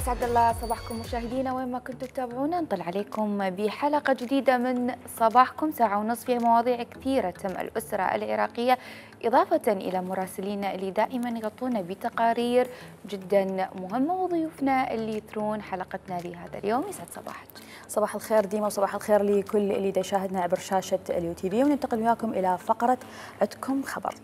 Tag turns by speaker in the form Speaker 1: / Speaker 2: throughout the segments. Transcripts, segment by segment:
Speaker 1: أسعد الله صباحكم مشاهدينا وين ما كنتم تتابعونا. نطل عليكم بحلقة جديدة من صباحكم، ساعة ونصف فيها مواضيع كثيرة تم الأسرة العراقية، إضافة إلى مراسلينا اللي دائما يغطونا بتقارير جدا مهمة، وضيوفنا اللي يثرون حلقتنا لهذا اليوم. يسعد صباحك.
Speaker 2: صباح الخير ديما، وصباح الخير لكل اللي يشاهدنا عبر شاشة اليو تي في، وننتقل وياكم إلى فقرة عندكم خبر.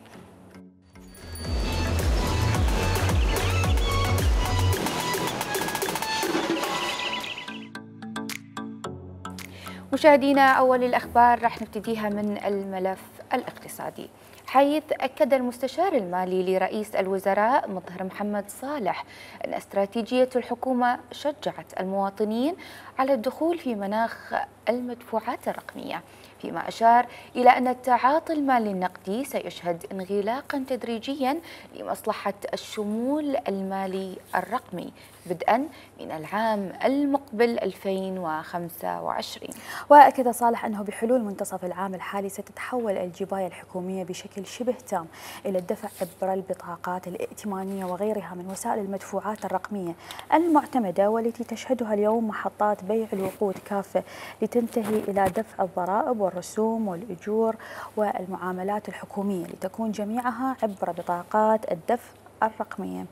Speaker 1: مشاهدينا، أول الأخبار راح نبتديها من الملف الاقتصادي، حيث أكد المستشار المالي لرئيس الوزراء مظهر محمد صالح أن استراتيجية الحكومة شجعت المواطنين على الدخول في مناخ المدفوعات الرقمية، فيما أشار إلى أن التعاطي المالي النقدي سيشهد انغلاقا تدريجيا لمصلحة الشمول المالي الرقمي بدءا من العام المقبل 2025.
Speaker 2: وأكد صالح أنه بحلول منتصف العام الحالي ستتحول الجباية الحكومية بشكل شبه تام إلى الدفع عبر البطاقات الائتمانية وغيرها من وسائل المدفوعات الرقمية المعتمدة، والتي تشهدها اليوم محطات بيع الوقود كافة، لتنتهي إلى دفع الضرائب والرسوم والأجور والمعاملات الحكومية، لتكون جميعها عبر بطاقات الدفع الرقمية.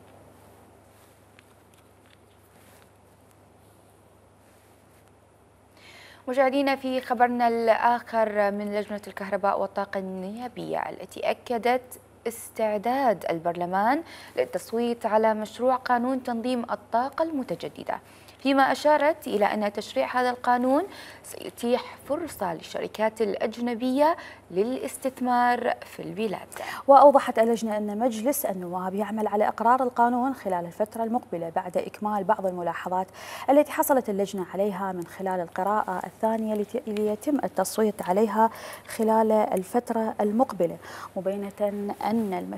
Speaker 1: مشاهدينا، في خبرنا الآخر من لجنة الكهرباء والطاقة النيابية التي أكدت استعداد البرلمان للتصويت على مشروع قانون تنظيم الطاقة المتجددة، فيما أشارت إلى أن تشريع هذا القانون سيتيح فرصة للشركات الأجنبية للاستثمار في البلاد.
Speaker 2: وأوضحت اللجنة أن مجلس النواب يعمل على إقرار القانون خلال الفترة المقبلة بعد إكمال بعض الملاحظات التي حصلت اللجنة عليها من خلال القراءة الثانية ليتم التصويت عليها خلال الفترة المقبلة، مبينة أن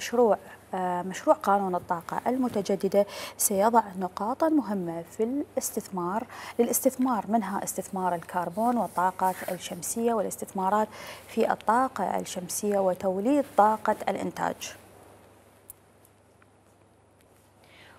Speaker 2: مشروع قانون الطاقة المتجددة سيضع نقاطا مهمة في للاستثمار، منها استثمار الكربون والطاقة الشمسية والاستثمارات في الطاقة الشمسية وتوليد طاقة الإنتاج.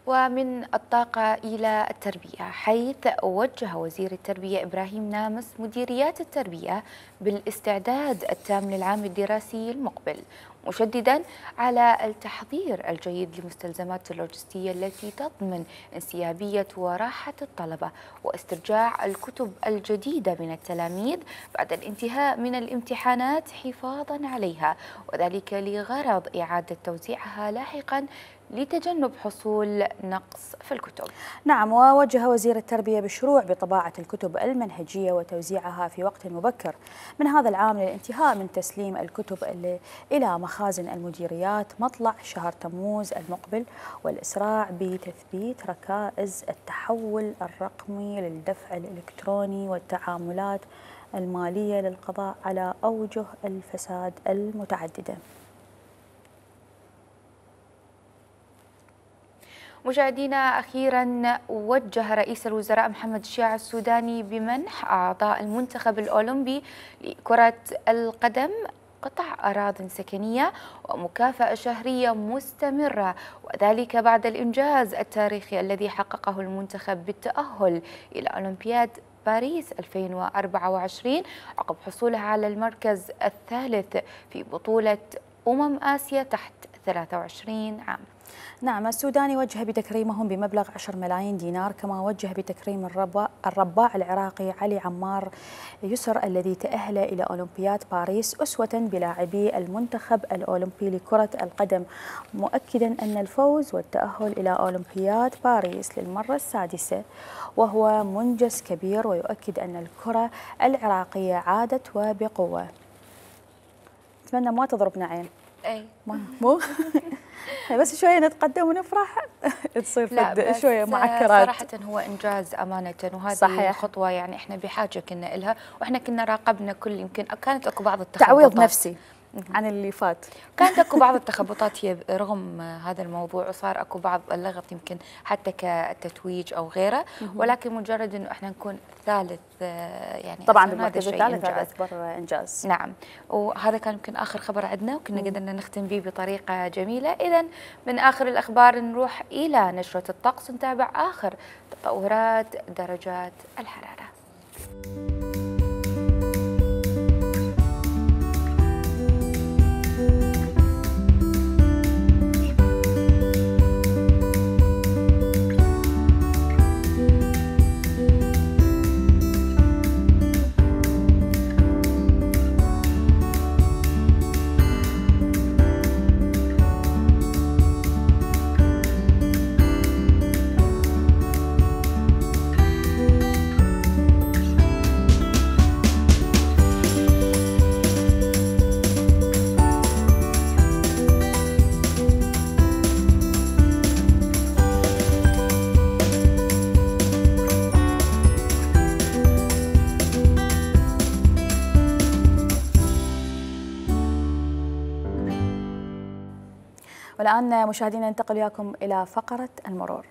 Speaker 1: ومن الطاقة إلى التربية، حيث وجه وزير التربية إبراهيم نامس مديريات التربية بالاستعداد التام للعام الدراسي المقبل، مشددا على التحضير الجيد لمستلزمات اللوجستية التي تضمن انسيابية وراحة الطلبة واسترجاع الكتب الجديدة من التلاميذ بعد الانتهاء من الامتحانات حفاظا عليها، وذلك لغرض إعادة توزيعها لاحقا لتجنب حصول نقص في الكتب.
Speaker 2: نعم، ووجه وزير التربية بالشروع بطباعة الكتب المنهجية وتوزيعها في وقت مبكر من هذا العام للانتهاء من تسليم الكتب إلى مخازن المديريات مطلع شهر تموز المقبل، والإسراع بتثبيت ركائز التحول الرقمي للدفع الإلكتروني والتعاملات المالية للقضاء على أوجه الفساد المتعددة.
Speaker 1: مشاهدينا، أخيرا وجه رئيس الوزراء محمد الشياع السوداني بمنح أعضاء المنتخب الأولمبي لكرة القدم قطع أراضٍ سكنية ومكافأة شهرية مستمرة، وذلك بعد الإنجاز التاريخي الذي حققه المنتخب بالتأهل إلى أولمبياد باريس 2024 عقب حصولها على المركز الثالث في بطولة آسيا تحت 23 عام.
Speaker 2: نعم، السوداني وجه بتكريمهم بمبلغ 10 ملايين دينار، كما وجه بتكريم الرباع العراقي علي عمار يسر الذي تأهل إلى أولمبياد باريس أسوة بلاعبي المنتخب الأولمبي لكرة القدم، مؤكدا أن الفوز والتأهل إلى أولمبياد باريس للمرة السادسة وهو منجز كبير، ويؤكد أن الكرة العراقية عادت وبقوة. أتمنى ما تضربنا عين.
Speaker 1: أي
Speaker 2: مو بس شوية نتقدم ونفرح تصير شوية معكرات.
Speaker 1: صراحة هو إنجاز أمانة، وهذه
Speaker 2: صحيح.
Speaker 1: خطوة يعني إحنا بحاجة كنا إلها، وإحنا كنا راقبنا كل، يمكن كانت أكو بعض
Speaker 2: تعويض نفسي. عن اللي فات.
Speaker 1: كانت اكو بعض التخبطات رغم هذا الموضوع، وصار اكو بعض اللغط يمكن حتى كتتويج او غيره، ولكن مجرد انه احنا نكون ثالث يعني
Speaker 2: طبعا بالمركز الثالث هذا اكبر انجاز.
Speaker 1: نعم، وهذا كان يمكن اخر خبر عندنا، وكنا قدرنا نختم به بطريقه جميله. اذا من اخر الاخبار نروح الى نشره الطقس، نتابع اخر تطورات درجات الحراره.
Speaker 2: والآن مشاهدينا ننتقل وياكم إلى فقرة المرور.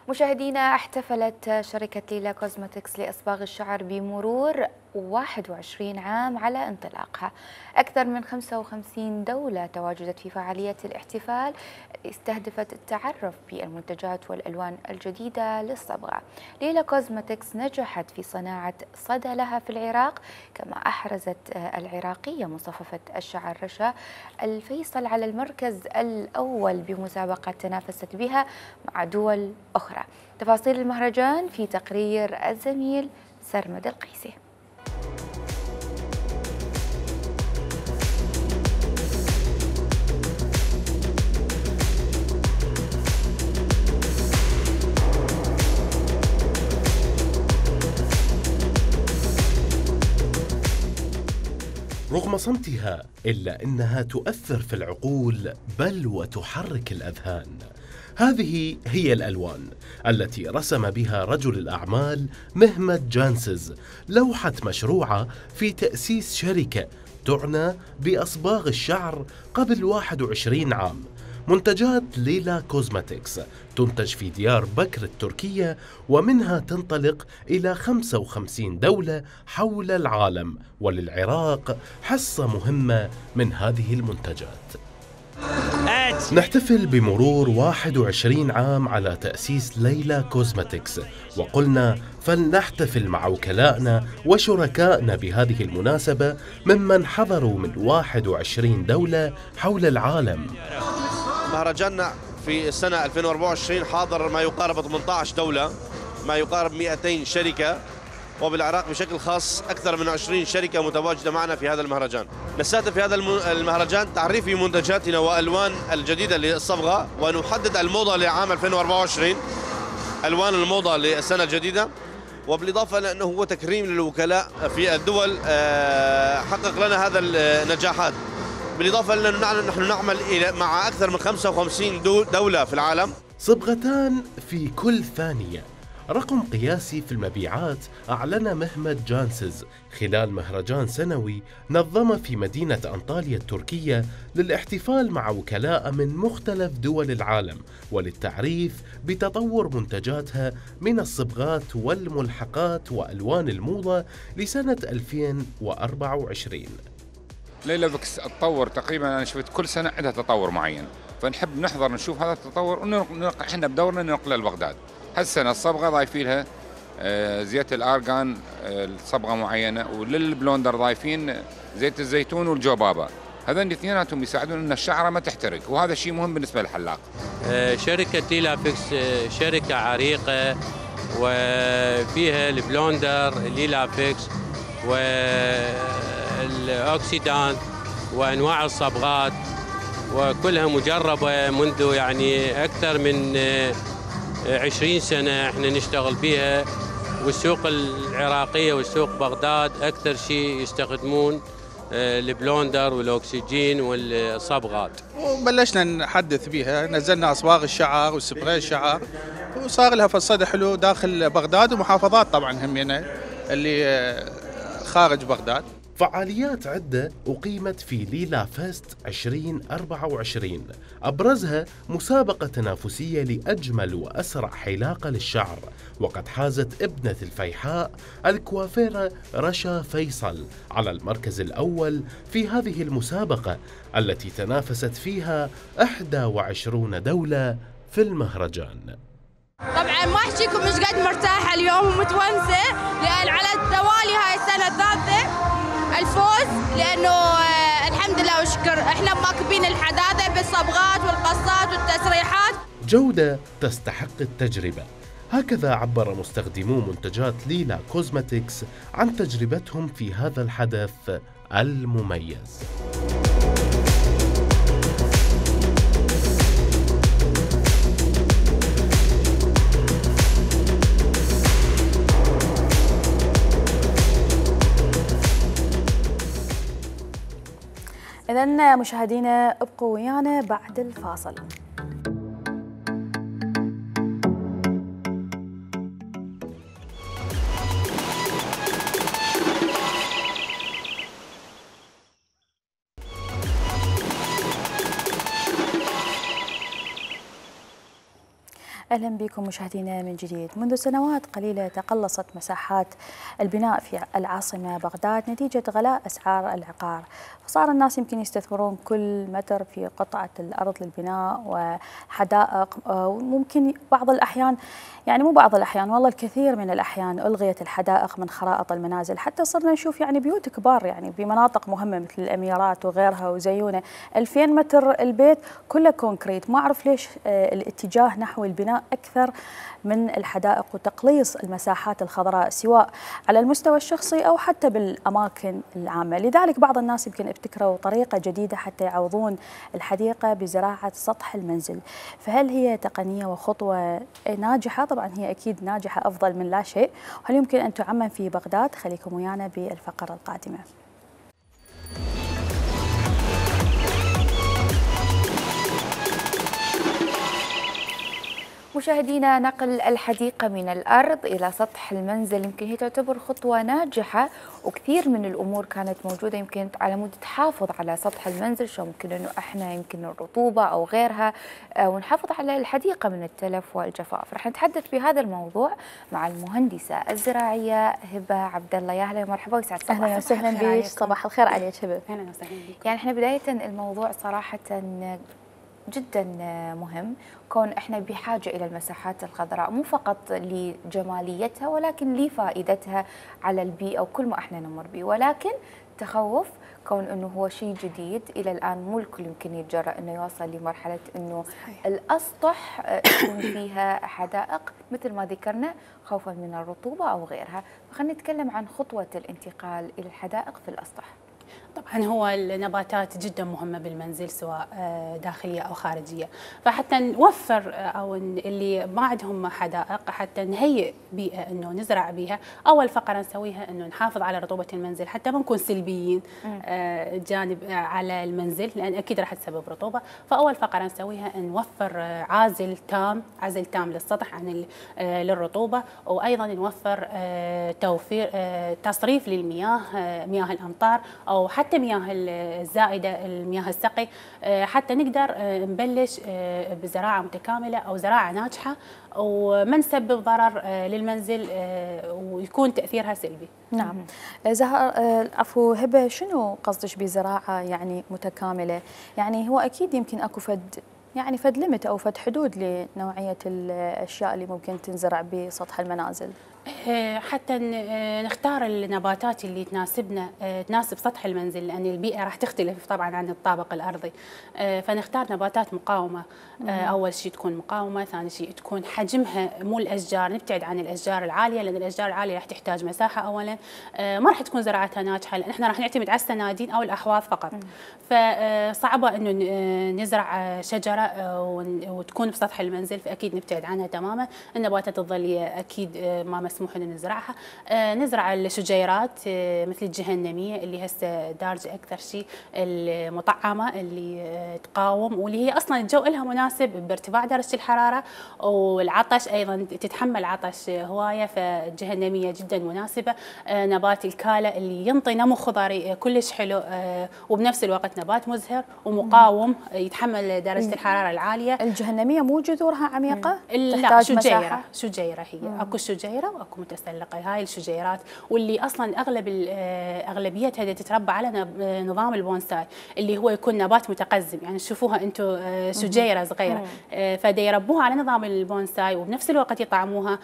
Speaker 1: مشاهدينا، احتفلت شركة ليلا كوزمتكس لإصباغ الشعر بمرور 21 عام على انطلاقها. أكثر من 55 دولة تواجدت في فعالية الاحتفال، استهدفت التعرف بالمنتجات والألوان الجديدة للصبغة. ليلا كوزمتكس نجحت في صناعة صدى لها في العراق، كما أحرزت العراقية مصففة الشعر رشا الفيصل على المركز الأول بمسابقة تنافست بها مع دول أخرى. تفاصيل المهرجان في تقرير الزميل سرمد القيسي.
Speaker 3: رغم صمتها إلا أنها تؤثر في العقول بل وتحرك الأذهان. هذه هي الألوان التي رسم بها رجل الأعمال مهمت جانسز لوحة مشروعة في تأسيس شركة تعنى بأصباغ الشعر قبل 21 عام. منتجات ليلا كوزمتكس تنتج في ديار بكر التركية، ومنها تنطلق إلى 55 دولة حول العالم، وللعراق حصة مهمة من هذه المنتجات. نحتفل بمرور 21 عام على تأسيس ليلا كوزمتكس، وقلنا فلنحتفل مع وكلائنا وشركائنا بهذه المناسبة ممن حضروا من 21 دولة حول العالم.
Speaker 4: مهرجاننا في السنة 2024 حاضر ما يقارب 18 دولة، ما يقارب 200 شركة، وبالعراق بشكل خاص أكثر من 20 شركة متواجدة معنا في هذا المهرجان. نستهدف في هذا المهرجان تعريف منتجاتنا وألوان الجديدة للصبغة، ونحدد الموضة لعام 2024، ألوان الموضة للسنة الجديدة، وبالإضافة لأنه هو تكريم للوكلاء في الدول حقق لنا هذا النجاحات. بالإضافة لأنه نحن نعمل مع أكثر من 55 دولة في العالم.
Speaker 3: صبغتان في كل ثانية، رقم قياسي في المبيعات أعلن مهمت جانسز خلال مهرجان سنوي نظم في مدينة أنطاليا التركية للاحتفال مع وكلاء من مختلف دول العالم وللتعريف بتطور منتجاتها من الصبغات والملحقات وألوان الموضة لسنة 2024.
Speaker 5: ليلا بكس تطور تقريبا، أنا شفت كل سنة عندها تطور معين، فنحب نحضر نشوف هذا التطور احنا بدورنا ننقله لبغداد. هالسنة الصبغة ضايفين لها زيت الأرغان صبغة معينة، وللبلوندر ضايفين زيت الزيتون والجوبابا. هذين الاثنيناتهم يساعدون ان الشعره ما تحترق، وهذا شيء مهم بالنسبه للحلاق.
Speaker 6: شركه ليلا فيكس شركه عريقه وفيها البلوندر ليلا فيكس، والأكسيدان وأنواع الصبغات، وكلها مجربة منذ يعني أكثر من 20 سنة احنا نشتغل بها. والسوق العراقية والسوق بغداد أكثر شيء يستخدمون البلوندر والأكسجين والصبغات.
Speaker 7: وبلشنا نحدث بها، نزلنا أصباغ الشعر وسبراي الشعر، وصار لها فصد حلو داخل بغداد ومحافظات طبعا همينة اللي خارج بغداد.
Speaker 3: فعاليات عدة أقيمت في ليلا فيست 2024، أبرزها مسابقة تنافسية لأجمل وأسرع حلاقة للشعر، وقد حازت ابنة الفيحاء الكوافيرة رشا فيصل على المركز الأول في هذه المسابقة التي تنافست فيها 21 دولة في المهرجان.
Speaker 8: طبعا ما احكيكم مش قد مرتاحه اليوم ومتونسه، لان على التوالي هاي السنه الثالثه الفوز، لانه الحمد لله وشكر احنا مواكبين الحداثه بالصبغات والقصات والتسريحات.
Speaker 3: جوده تستحق التجربه، هكذا عبر مستخدمو منتجات ليلا كوزمتكس عن تجربتهم في هذا الحدث المميز.
Speaker 2: إذن مشاهدينا ابقوا ويانا بعد الفاصل. أهلا بكم مشاهدينا من جديد. منذ سنوات قليلة تقلصت مساحات البناء في العاصمة بغداد نتيجة غلاء أسعار العقار، فصار الناس يمكن يستثمرون كل متر في قطعة الأرض للبناء وحدائق، وممكن بعض الأحيان يعني مو بعض الأحيان والله الكثير من الأحيان ألغيت الحدائق من خرائط المنازل، حتى صرنا نشوف يعني بيوت كبار يعني بمناطق مهمة مثل الأميرات وغيرها وزيونة 2000 متر البيت كله كونكريت. ما أعرف ليش الاتجاه نحو البناء أكثر من الحدائق وتقليص المساحات الخضراء سواء على المستوى الشخصي أو حتى بالأماكن العامة. لذلك بعض الناس يمكن ابتكروا طريقة جديدة حتى يعوضون الحديقة بزراعة سطح المنزل. فهل هي تقنية وخطوة ناجحة؟ طبعا هي أكيد ناجحة، أفضل من لا شيء. وهل يمكن أن تعمم في بغداد؟ خليكم ويانا بالفقرة القادمة.
Speaker 1: مشاهدينا، نقل الحديقة من الأرض إلى سطح المنزل يمكن هي تعتبر خطوة ناجحة، وكثير من الأمور كانت موجودة يمكن على مود تحافظ على سطح المنزل، شو ممكن أنه إحنا يمكن الرطوبة أو غيرها ونحافظ على الحديقة من التلف والجفاف. رح نتحدث في هذا الموضوع مع المهندسة الزراعية هبة عبد الله. يا أهلا ومرحبا ويسعد صباحك.
Speaker 2: أهلا وسهلا بك. صباح الخير عليك هبة.
Speaker 9: أهلا وسهلا بك.
Speaker 1: يعني إحنا بداية الموضوع صراحة جدا مهم، كون احنا بحاجه الى المساحات الخضراء مو فقط لجماليتها ولكن لفائدتها على البيئه وكل ما احنا نمر به، ولكن تخوف كون انه هو شيء جديد الى الان مو الكل يمكن يتجرأ انه يوصل لمرحله انه صحيح. الاسطح يكون فيها حدائق مثل ما ذكرنا خوفا من الرطوبه او غيرها، فخلينا نتكلم عن خطوه الانتقال الى الحدائق في الاسطح.
Speaker 9: طبعا هو النباتات جدا مهمه بالمنزل سواء داخليه او خارجيه، فحتى نوفر او اللي ما عندهم حدائق حتى نهيئ بيئه انه نزرع بيها. اول فقره نسويها انه نحافظ على رطوبه المنزل حتى ما نكون سلبيين جانب على المنزل، لان اكيد راح تسبب رطوبه. فاول فقره نسويها نوفر عازل تام للسطح عن للرطوبه، وايضا نوفر توفير تصريف للمياه، مياه الامطار او حتى مياه الزائده، المياه السقي، حتى نقدر نبلش بزراعه متكامله او زراعه ناجحه وما نسبب ضرر للمنزل ويكون تاثيرها سلبي.
Speaker 2: نعم. زهر عفو هبه، شنو قصدك بزراعه يعني متكامله؟ يعني هو اكيد يمكن اكو فد ليمت او فد حدود لنوعيه الاشياء اللي ممكن تنزرع بسطح المنازل.
Speaker 9: حتى نختار النباتات اللي تناسبنا، تناسب سطح المنزل، لأن البيئة راح تختلف طبعا عن الطابق الأرضي. فنختار نباتات مقاومة. أول شيء تكون مقاومة، ثاني شيء تكون حجمها مو الأشجار، نبتعد عن الأشجار العالية، لأن الأشجار العالية راح تحتاج مساحة أولا، ما راح تكون زراعتها ناجحة، لأن احنا راح نعتمد على السنادين أو الأحواض فقط. فصعبة إنه نزرع شجرة وتكون بسطح المنزل، فأكيد نبتعد عنها تماما. النباتات الظلية أكيد ما مسموح إن نزرعها. نزرع الشجيرات مثل الجهنمية اللي هسه دارجة أكثر شيء، المطعمة اللي تقاوم، واللي هي أصلا الجو لها مناسب بارتفاع درجة الحرارة، والعطش أيضا تتحمل عطش هواية، فالجهنمية جدا مناسبة. نبات الكالة اللي ينطي نمو خضري كلش حلو، وبنفس الوقت نبات مزهر ومقاوم يتحمل درجة الحرارة العالية.
Speaker 2: الجهنمية مو جذورها عميقة؟
Speaker 9: لا، شجيرة هي. اكو شجيرة واكو متسلقة. هاي الشجيرات واللي اصلا اغلبيتها تتربى على نظام البونساي، اللي هو يكون نبات متقزم، يعني تشوفوها انتم شجيرة صغيرة، فدا يربوها على نظام البونساي وبنفس الوقت يطعموها،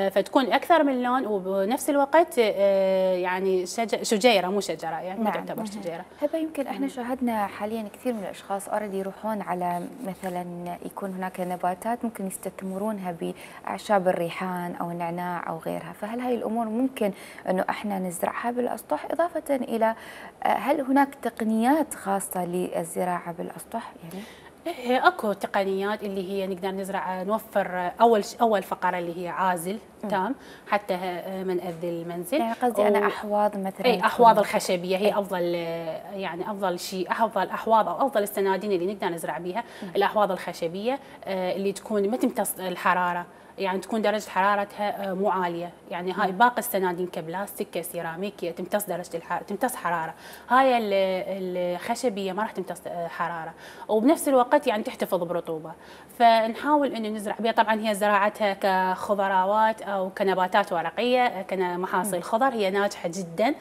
Speaker 9: فتكون اكثر من لون، وبنفس الوقت يعني شجيرة مو شجرة، يعني ما تعتبر شجيرة.
Speaker 1: هبه يمكن احنا شاهدنا حاليا كثير من الاشخاص اوريدي يروحون على مثلا يكون هناك نباتات ممكن يستثمرونها باعشاب الريحان او النعناع او غيرها، فهل هاي الامور ممكن انه احنا نزرعها بالاسطح؟ اضافه الى هل هناك تقنيات خاصه للزراعه بالاسطح يعني؟
Speaker 9: اكو تقنيات اللي هي نقدر نزرع، نوفر اول فقره اللي هي عازل تام حتى من اذي المنزل.
Speaker 1: يعني قصدي انا احواض مثلا.
Speaker 9: اي احواض الخشبيه هي افضل، يعني افضل شيء، افضل احواض او افضل السنادين اللي نقدر نزرع بها الاحواض الخشبيه اللي تكون ما تمتص الحراره، يعني تكون درجة حرارتها مو عالية، يعني هاي باقي السنادين كبلاستيك كسيراميك تمتص درجة الحرارة، تمتص حرارة. هاي الخشبية ما راح تمتص حرارة، وبنفس الوقت يعني تحتفظ برطوبة. فنحاول انه نزرع بها، طبعا هي زراعتها كخضروات او كنباتات ورقية كمحاصيل خضر هي ناجحة جدا،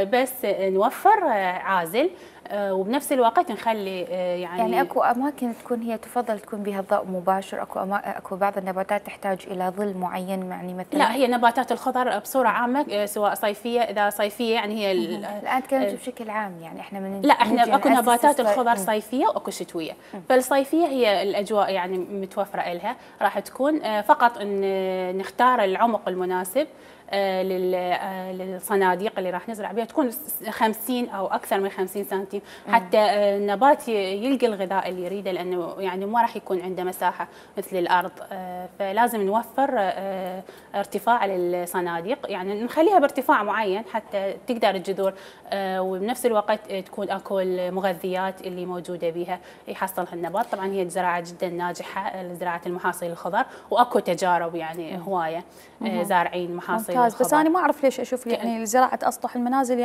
Speaker 9: بس نوفر عازل وبنفس الوقت نخلي
Speaker 1: يعني اكو اماكن تكون هي تفضل تكون بها ضوء مباشر، اكو بعض النباتات تحتاج الى ظل معين، يعني مثلا
Speaker 9: لا هي نباتات الخضر بصوره عامه سواء صيفيه، اذا صيفيه يعني هي
Speaker 1: الان تكلمت بشكل عام، يعني احنا
Speaker 9: لا احنا اكو نباتات الخضر صيفيه واكو شتويه. فالصيفيه هي الاجواء يعني متوفره لها، راح تكون فقط ان نختار العمق المناسب للصناديق اللي راح نزرع بها، تكون 50 او اكثر من 50 سنتيم حتى النبات يلقى الغذاء اللي يريده، لانه يعني ما راح يكون عنده مساحه مثل الارض. فلازم نوفر ارتفاع للصناديق، يعني نخليها بارتفاع معين حتى تقدر الجذور، وبنفس الوقت تكون اكو المغذيات اللي موجوده بها يحصلها النبات. طبعا هي زراعه جدا ناجحه لزراعه المحاصيل الخضر، واكو تجارب يعني هوايه زارعين محاصيل
Speaker 2: ممتاز. بس انا ما اعرف ليش اشوف يعني زراعه اسطح المنازل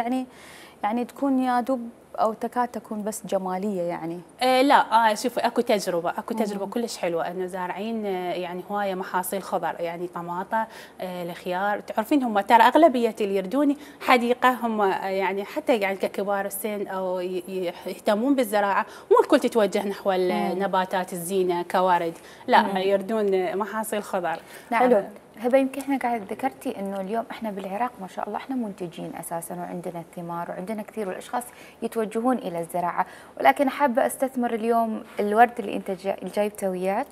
Speaker 2: يعني تكون يا دوب او تكاد تكون بس جماليه يعني.
Speaker 9: لا شوفي اكو تجربه كلش حلوه انه زارعين يعني هوايه محاصيل خضر، يعني طماطه، الخيار. تعرفين هم ترى اغلبيه اللي يردوني حديقه هم يعني حتى يعني ككبار السن او يهتمون بالزراعه، مو الكل تتوجه نحو النباتات الزينه كورد، لا يردون محاصيل خضر.
Speaker 1: حلو. هبه يمكن احنا قاعد ذكرتي انه اليوم احنا بالعراق ما شاء الله احنا منتجين اساسا، وعندنا الثمار وعندنا كثير، والاشخاص يتوجهون الى الزراعه، ولكن حابه استثمر اليوم الورد اللي انت جايبته وياك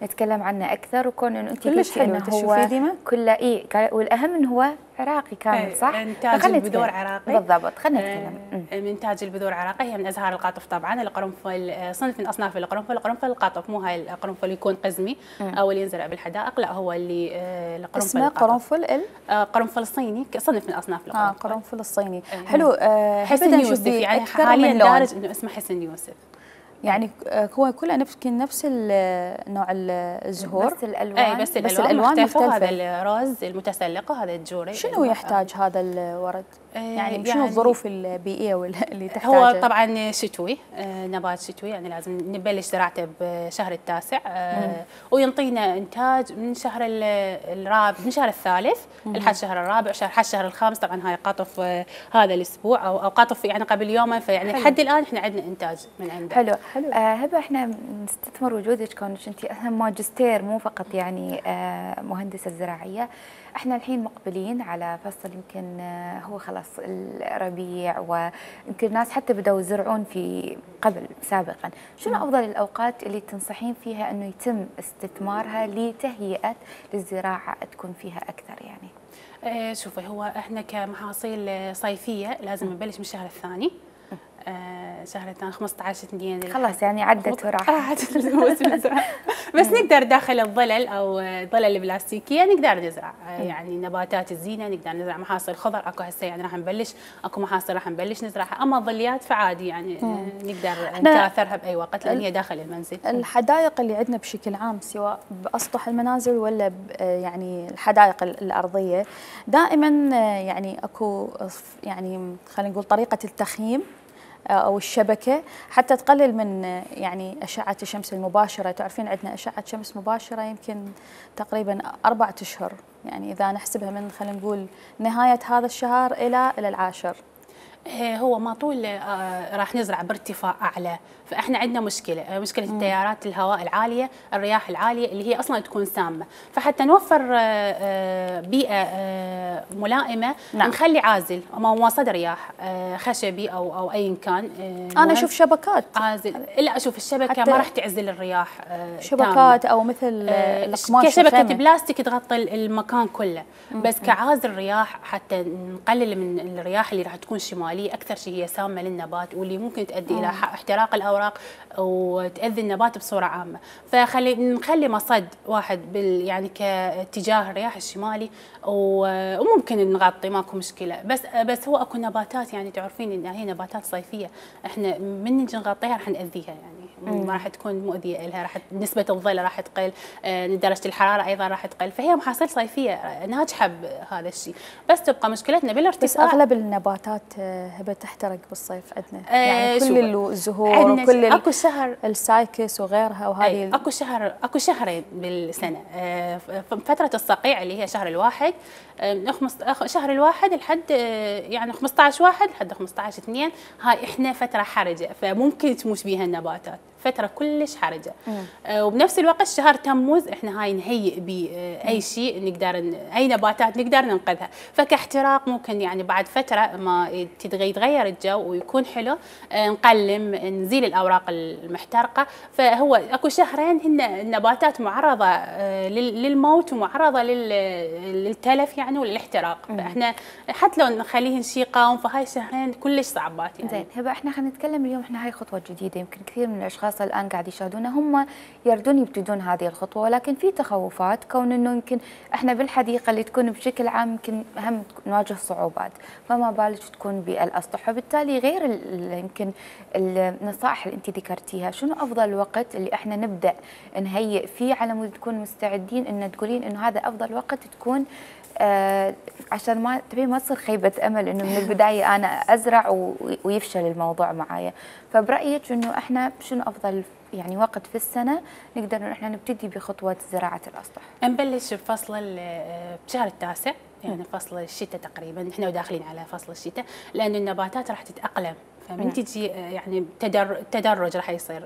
Speaker 1: نتكلم عنه اكثر، وكون انه انت قلتي انه هو كله والاهم انه هو عراقي كامل، صح؟
Speaker 9: انتاج البذور عراقي
Speaker 1: بالضبط. خلينا نتكلم.
Speaker 9: انتاج البذور عراقي، هي من ازهار القطف طبعا. القرنفل صنف من اصناف القرنفل، قرنفل القطف، مو هاي القرنفل يكون قزمي او اللي ينزرع بالحدائق، لا هو اللي القرنفل
Speaker 2: اسمه قرنفل
Speaker 9: قرنفل صيني، صنف من اصناف القرنفل.
Speaker 2: قرنفل الصيني. حلو.
Speaker 9: حسن يوسف، يعني حاليا دارج انه اسمه حسن يوسف.
Speaker 2: يعني هو كله نفس نوع الزهور،
Speaker 1: بس الالوان
Speaker 9: بس الالوان مختلفه. هذا الروز المتسلق وهذا الجوري.
Speaker 2: شنو يحتاج هذا الورد؟ يعني شنو الظروف البيئيه اللي تحتاجها؟
Speaker 9: هو طبعا شتوي، نبات شتوي، يعني لازم نبلش زراعته بشهر التاسع، وينطينا انتاج من شهر الرابع، من شهر الثالث لحد شهر الرابع، لحد شهر الخامس. طبعا هاي قطف هذا الاسبوع او قطف يعني قبل يومين، فيعني لحد الان احنا عندنا انتاج من عنده.
Speaker 1: حلو.
Speaker 2: حلو.
Speaker 1: هبه احنا نستثمر وجودك كونك انت اصلا ماجستير مو فقط يعني مهندسه زراعيه. احنا الحين مقبلين على فصل يمكن هو خلاص الربيع، ويمكن الناس حتى بدأوا يزرعون في قبل سابقا. شنو افضل الاوقات اللي تنصحين فيها انه يتم استثمارها لتهيئه للزراعه تكون فيها اكثر يعني؟
Speaker 9: شوفي، هو احنا كمحاصيل صيفيه لازم نبلش من الشهر الثاني. شهر الثاني 15/2
Speaker 1: خلاص يعني عدت وراحت
Speaker 9: الموسم الزراعي. بس نقدر داخل الظلل او الظلل البلاستيكيه نقدر نزرع يعني نباتات الزينه، نقدر نزرع محاصيل خضر. اكو هسه يعني راح نبلش، اكو محاصيل راح نبلش نزرعها. اما الظليات فعادي يعني نقدر نكاثرها باي وقت لان هي داخل المنزل.
Speaker 2: الحدائق اللي عندنا بشكل عام سواء باسطح المنازل ولا يعني الحدائق الارضيه دائما يعني اكو يعني خلينا نقول طريقه التخييم أو الشبكة حتى تقلل من يعني أشعة الشمس المباشرة. تعرفين عندنا أشعة شمس مباشرة يمكن تقريبا 4 أشهر، يعني إذا نحسبها من خلينا نقول نهاية هذا الشهر إلى العاشر.
Speaker 9: هو ما طول راح نزرع بارتفاع اعلى، فاحنا عندنا مشكله التيارات الهواء العاليه، الرياح العاليه اللي هي اصلا تكون سامه. فحتى نوفر بيئه ملائمه نخلي عازل مواصد رياح خشبي او ايا كان.
Speaker 2: انا اشوف شبكات
Speaker 9: عازل. لا اشوف الشبكه ما راح تعزل الرياح
Speaker 2: شبكات او مثل القماش
Speaker 9: كشبكه بلاستيك تغطي المكان كله. بس كعازل رياح حتى نقلل من الرياح اللي راح تكون شماليه اكثر شيء هي سامه للنبات واللي ممكن تؤدي الى احتراق الاوراق وتاذي النبات بصوره عامه. نخلي مصد واحد يعني كاتجاه الرياح الشمالي وممكن نغطي ماكو مشكله. بس هو اكو نباتات يعني تعرفين ان هي نباتات صيفيه احنا من نجي نغطيها راح ناذيها يعني ما راح تكون مؤذيه لها، راح نسبه الظل راح تقل، درجه الحراره ايضا راح تقل. فهي محاصيل صيفيه ناجحه بهذا الشيء. بس تبقى مشكلتنا بالارتفاع.
Speaker 2: بس اغلب النباتات هبه تحترق بالصيف عندنا يعني كل الزهور وكل
Speaker 9: اكو شهر
Speaker 2: السايكس وغيرها وهذه
Speaker 9: اكو شهرين بالسنه. فتره الصقيع اللي هي شهر الواحد، شهر الواحد لحد يعني 15/1 لحد 15/2 هاي احنا فتره حرجه فممكن تموت بيها النباتات، فتره كلش حرجه. وبنفس الوقت شهر تموز احنا هاي نهيئ باي شيء نقدر اي نباتات نقدر ننقذها. فكاحتراق ممكن يعني بعد فتره ما يتغير الجو ويكون حلو نقلم نزيل الاوراق المحترقه. فهو اكو شهرين هن النباتات معرضه للموت ومعرضه للتلف يعني وللاحتراق. فاحنا حتى لو نخليهن شيء قاوم فهاي الشهرين كلش صعبات يعني.
Speaker 1: زين هبه احنا خلينا نتكلم اليوم، احنا هاي خطوه جديده يمكن كثير من الاشخاص الان قاعد يشاهدونا هم يردون يبتدون هذه الخطوه، ولكن في تخوفات كون انه يمكن احنا بالحديقه اللي تكون بشكل عام يمكن هم نواجه صعوبات، فما بالك تكون بالاسطح. وبالتالي غير يمكن النصائح اللي انت ذكرتيها، شنو افضل وقت اللي احنا نبدا نهيئ فيه على مود نكون مستعدين ان تقولين انه هذا افضل وقت تكون عشان ما تصير خيبه امل انه من البدايه انا ازرع ويفشل الموضوع معايا. فبرايك انه احنا شنو افضل يعني وقت في السنه نقدر انه احنا نبتدي بخطوه زراعه الاسطح؟
Speaker 9: نبلش بفصل بشهر التاسع يعني فصل الشتاء تقريبا، احنا وداخلين على فصل الشتاء لأن النباتات راح تتأقلم. فمن تجي يعني تدرج راح يصير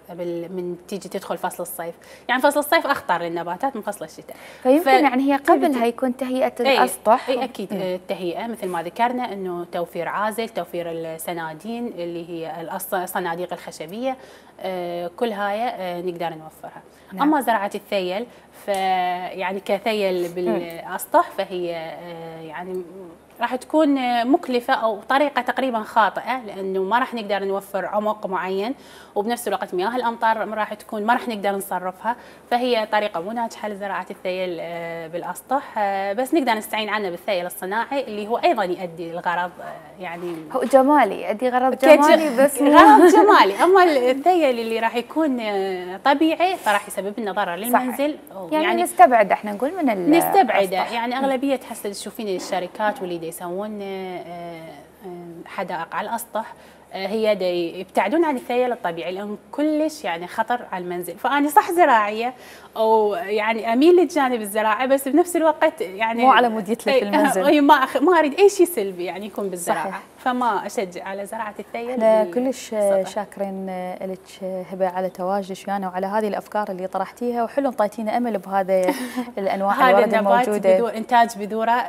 Speaker 9: من تيجي تدخل فصل الصيف. يعني فصل الصيف اخطر للنباتات من فصل الشتاء.
Speaker 1: فيمكن يعني هي قبلها يكون تهيئه الاسطح.
Speaker 9: اي اكيد التهيئه مثل ما ذكرنا انه توفير عازل، توفير السنادين اللي هي الصناديق الخشبيه، كل هاي نقدر نوفرها. اما زراعه الثيل فيعني كثيل بالاسطح فهي يعني راح تكون مكلفة أو طريقة تقريبا خاطئة لأنه ما راح نقدر نوفر عمق معين، وبنفس الوقت مياه الأمطار راح تكون ما راح نقدر نصرفها. فهي طريقة مو ناجحة لزراعة الثيل بالأسطح. بس نقدر نستعين عنه بالثيل الصناعي اللي هو أيضا يؤدي الغرض يعني
Speaker 1: هو جمالي، يؤدي غرض جمالي بس
Speaker 9: غرض جمالي. أما الثيل اللي راح يكون طبيعي فراح يسبب لنا ضرر للمنزل.
Speaker 1: يعني نستبعد احنا نقول من
Speaker 9: نستبعده. يعني أغلبية هسه تشوفين الشركات واللي يسوون حدائق على الاسطح هي يبتعدون عن الثيل الطبيعي لان كلش يعني خطر على المنزل. فانا صح زراعيه او يعني اميل للجانب الزراعي، بس بنفس الوقت يعني
Speaker 2: مو على مود يتلف المنزل.
Speaker 9: ما اريد اي شيء سلبي يعني يكون بالزراعه.
Speaker 2: صحيح.
Speaker 9: فما اشجع على زراعه الثيل.
Speaker 2: احنا كلش شاكرين لك هبه على تواجدك ويانا وعلى هذه الافكار اللي طرحتيها، وحلو انطيتينا امل بهذا الانواع الورد الموجوده.
Speaker 9: هذا انتاج بذوره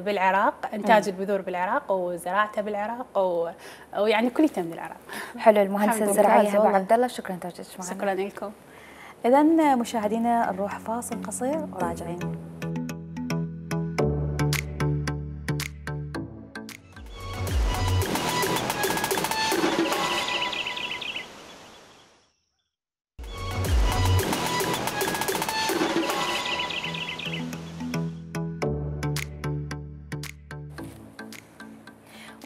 Speaker 9: بالعراق، انتاج البذور بالعراق وزراعته بالعراق ويعني كليته من العراق.
Speaker 1: حلو. المهندسه الزراعيه هبه عبد الله، شكرا لتواجدك معنا.
Speaker 9: شكرا لكم.
Speaker 2: اذا مشاهدينا نروح فاصل قصير وراجعين.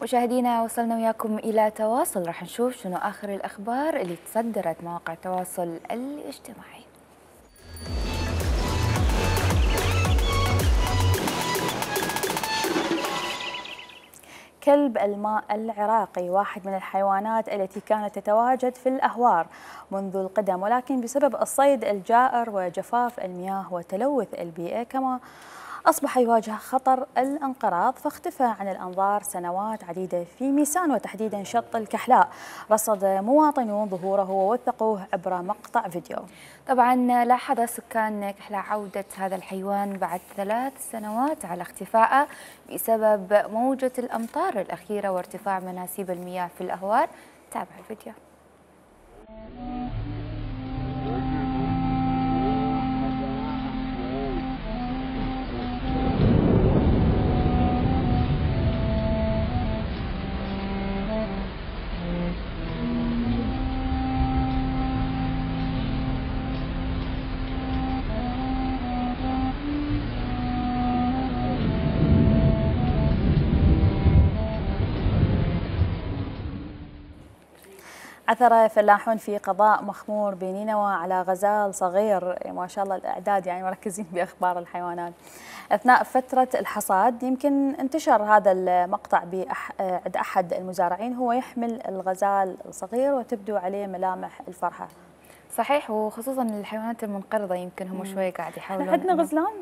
Speaker 1: مشاهدينا وصلنا وياكم إلى تواصل، راح نشوف شنو آخر الأخبار اللي تصدرت مواقع التواصل الاجتماعي.
Speaker 2: كلب الماء العراقي واحد من الحيوانات التي كانت تتواجد في الأهوار منذ القدم، ولكن بسبب الصيد الجائر وجفاف المياه وتلوث البيئة كما أصبح يواجه خطر الانقراض، فاختفى عن الأنظار سنوات عديدة في ميسان وتحديدا شط الكحلاء. رصد مواطنون ظهوره ووثقوه عبر مقطع فيديو.
Speaker 1: طبعا لاحظ سكان كحلاء عودة هذا الحيوان بعد 3 سنوات على اختفائه بسبب موجة الأمطار الأخيرة وارتفاع مناسيب المياه في الأهوار. تابع الفيديو.
Speaker 2: عثر فلاحون في قضاء مخمور بنينوى على غزال صغير، ما شاء الله الإعداد يعني مركزين بأخبار الحيوانات. أثناء فترة الحصاد يمكن انتشر هذا المقطع عند أحد المزارعين، هو يحمل الغزال الصغير وتبدو عليه ملامح الفرحة.
Speaker 1: صحيح، وخصوصا الحيوانات المنقرضة يمكن هم شوي قاعد يحاولون.
Speaker 2: عندنا غزلان؟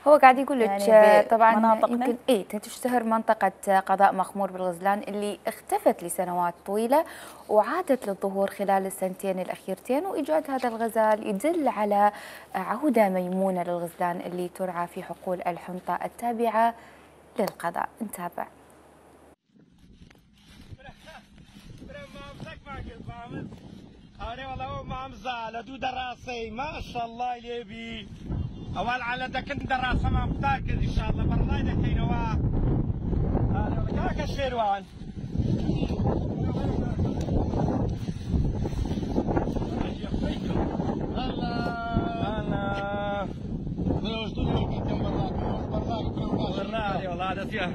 Speaker 1: هو قاعد يقول لك
Speaker 2: يعني
Speaker 1: طبعا يمكن تشتهر منطقة قضاء مخمور بالغزلان اللي اختفت لسنوات طويلة وعادت للظهور خلال السنتين الأخيرتين، وإيجاد هذا الغزال يدل على عودة ميمونة للغزلان اللي ترعى في حقول الحنطة التابعة للقضاء. نتابع.
Speaker 10: ما شاء الله يبي اول على دك دراسه ما متاكد ان شاء الله برا دحين هذا كاك الشيروان والله هذا فيها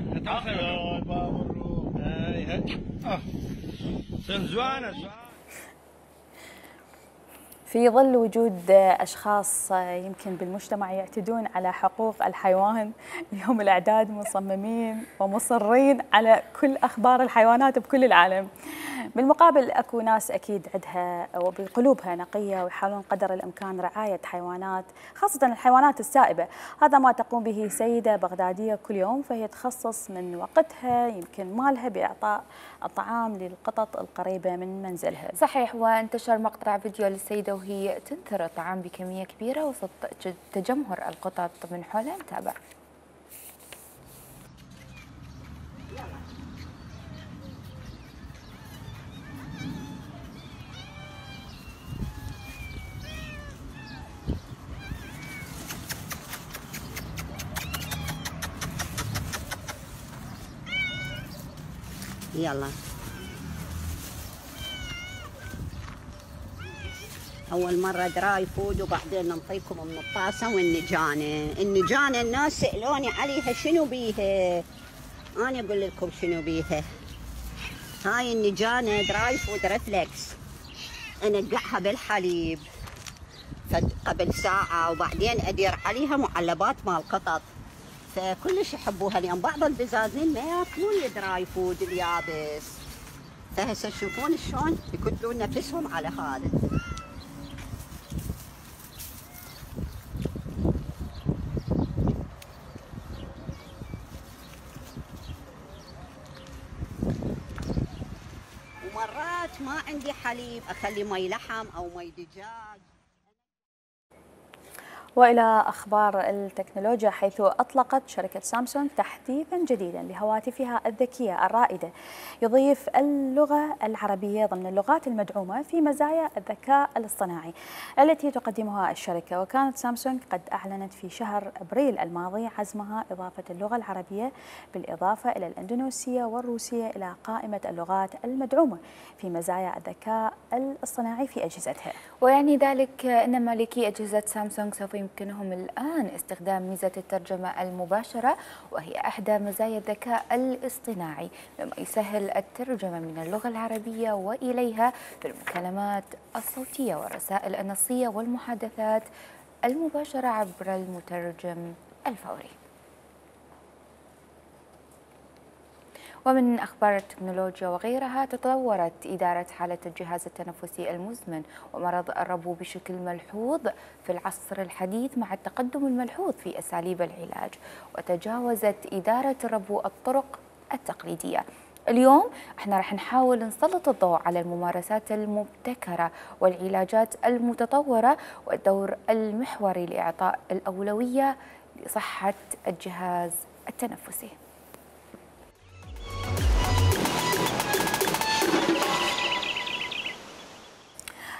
Speaker 2: في ظل وجود أشخاص يمكن بالمجتمع يعتدون على حقوق الحيوان، اليوم الأعداد مصممين ومصرين على كل أخبار الحيوانات بكل العالم. بالمقابل أكو ناس أكيد عندها وبقلوبها نقية ويحاولون قدر الإمكان رعاية حيوانات، خاصة الحيوانات السائبة. هذا ما تقوم به سيدة بغدادية كل يوم، فهي تخصص من وقتها يمكن مالها بإعطاء الطعام للقطط القريبة من منزلها.
Speaker 1: صحيح، وانتشر مقطع فيديو للسيدة وهي تنثر الطعام بكمية كبيرة وسط تجمهر القطط من حولها. نتابع.
Speaker 11: يلا أول مرة دراي فود وبعدين نعطيكم من الطاسة والنجانة. النجانة الناس سألوني عليها شنو بيها، أنا أقول لكم شنو بيها. هاي النجانة دراي فود ريفلكس، أنقعها بالحليب قبل ساعة وبعدين أدير عليها معلبات مال قطط. فكلش يحبوها اليوم. بعض البزازين ما ياكلون الدراي فود اليابس، فهسه تشوفون شلون يكتلون نفسهم على هذا. ومرات ما عندي حليب اخلي مي لحم او مي دجاج.
Speaker 2: وإلى أخبار التكنولوجيا، حيث أطلقت شركة سامسونج تحديثا جديدا لهواتفها الذكية الرائدة يضيف اللغة العربية ضمن اللغات المدعومة في مزايا الذكاء الاصطناعي التي تقدمها الشركة. وكانت سامسونج قد أعلنت في شهر أبريل الماضي عزمها إضافة اللغة العربية بالإضافة إلى الإندونيسية والروسية إلى قائمة اللغات المدعومة في مزايا الذكاء الاصطناعي في أجهزتها.
Speaker 1: ويعني ذلك أن مالكي أجهزة سامسونج سوف يمكنهم الآن استخدام ميزة الترجمة المباشرة، وهي أحدى مزايا الذكاء الاصطناعي، مما يسهل الترجمة من اللغة العربية وإليها في المكالمات الصوتية والرسائل النصية والمحادثات المباشرة عبر المترجم الفوري. ومن أخبار التكنولوجيا وغيرها، تطورت إدارة حالة الجهاز التنفسي المزمن ومرض الربو بشكل ملحوظ في العصر الحديث مع التقدم الملحوظ في أساليب العلاج، وتجاوزت إدارة الربو الطرق التقليدية. اليوم احنا راح نحاول نسلط الضوء على الممارسات المبتكرة والعلاجات المتطورة والدور المحوري لإعطاء الأولوية لصحة الجهاز التنفسي.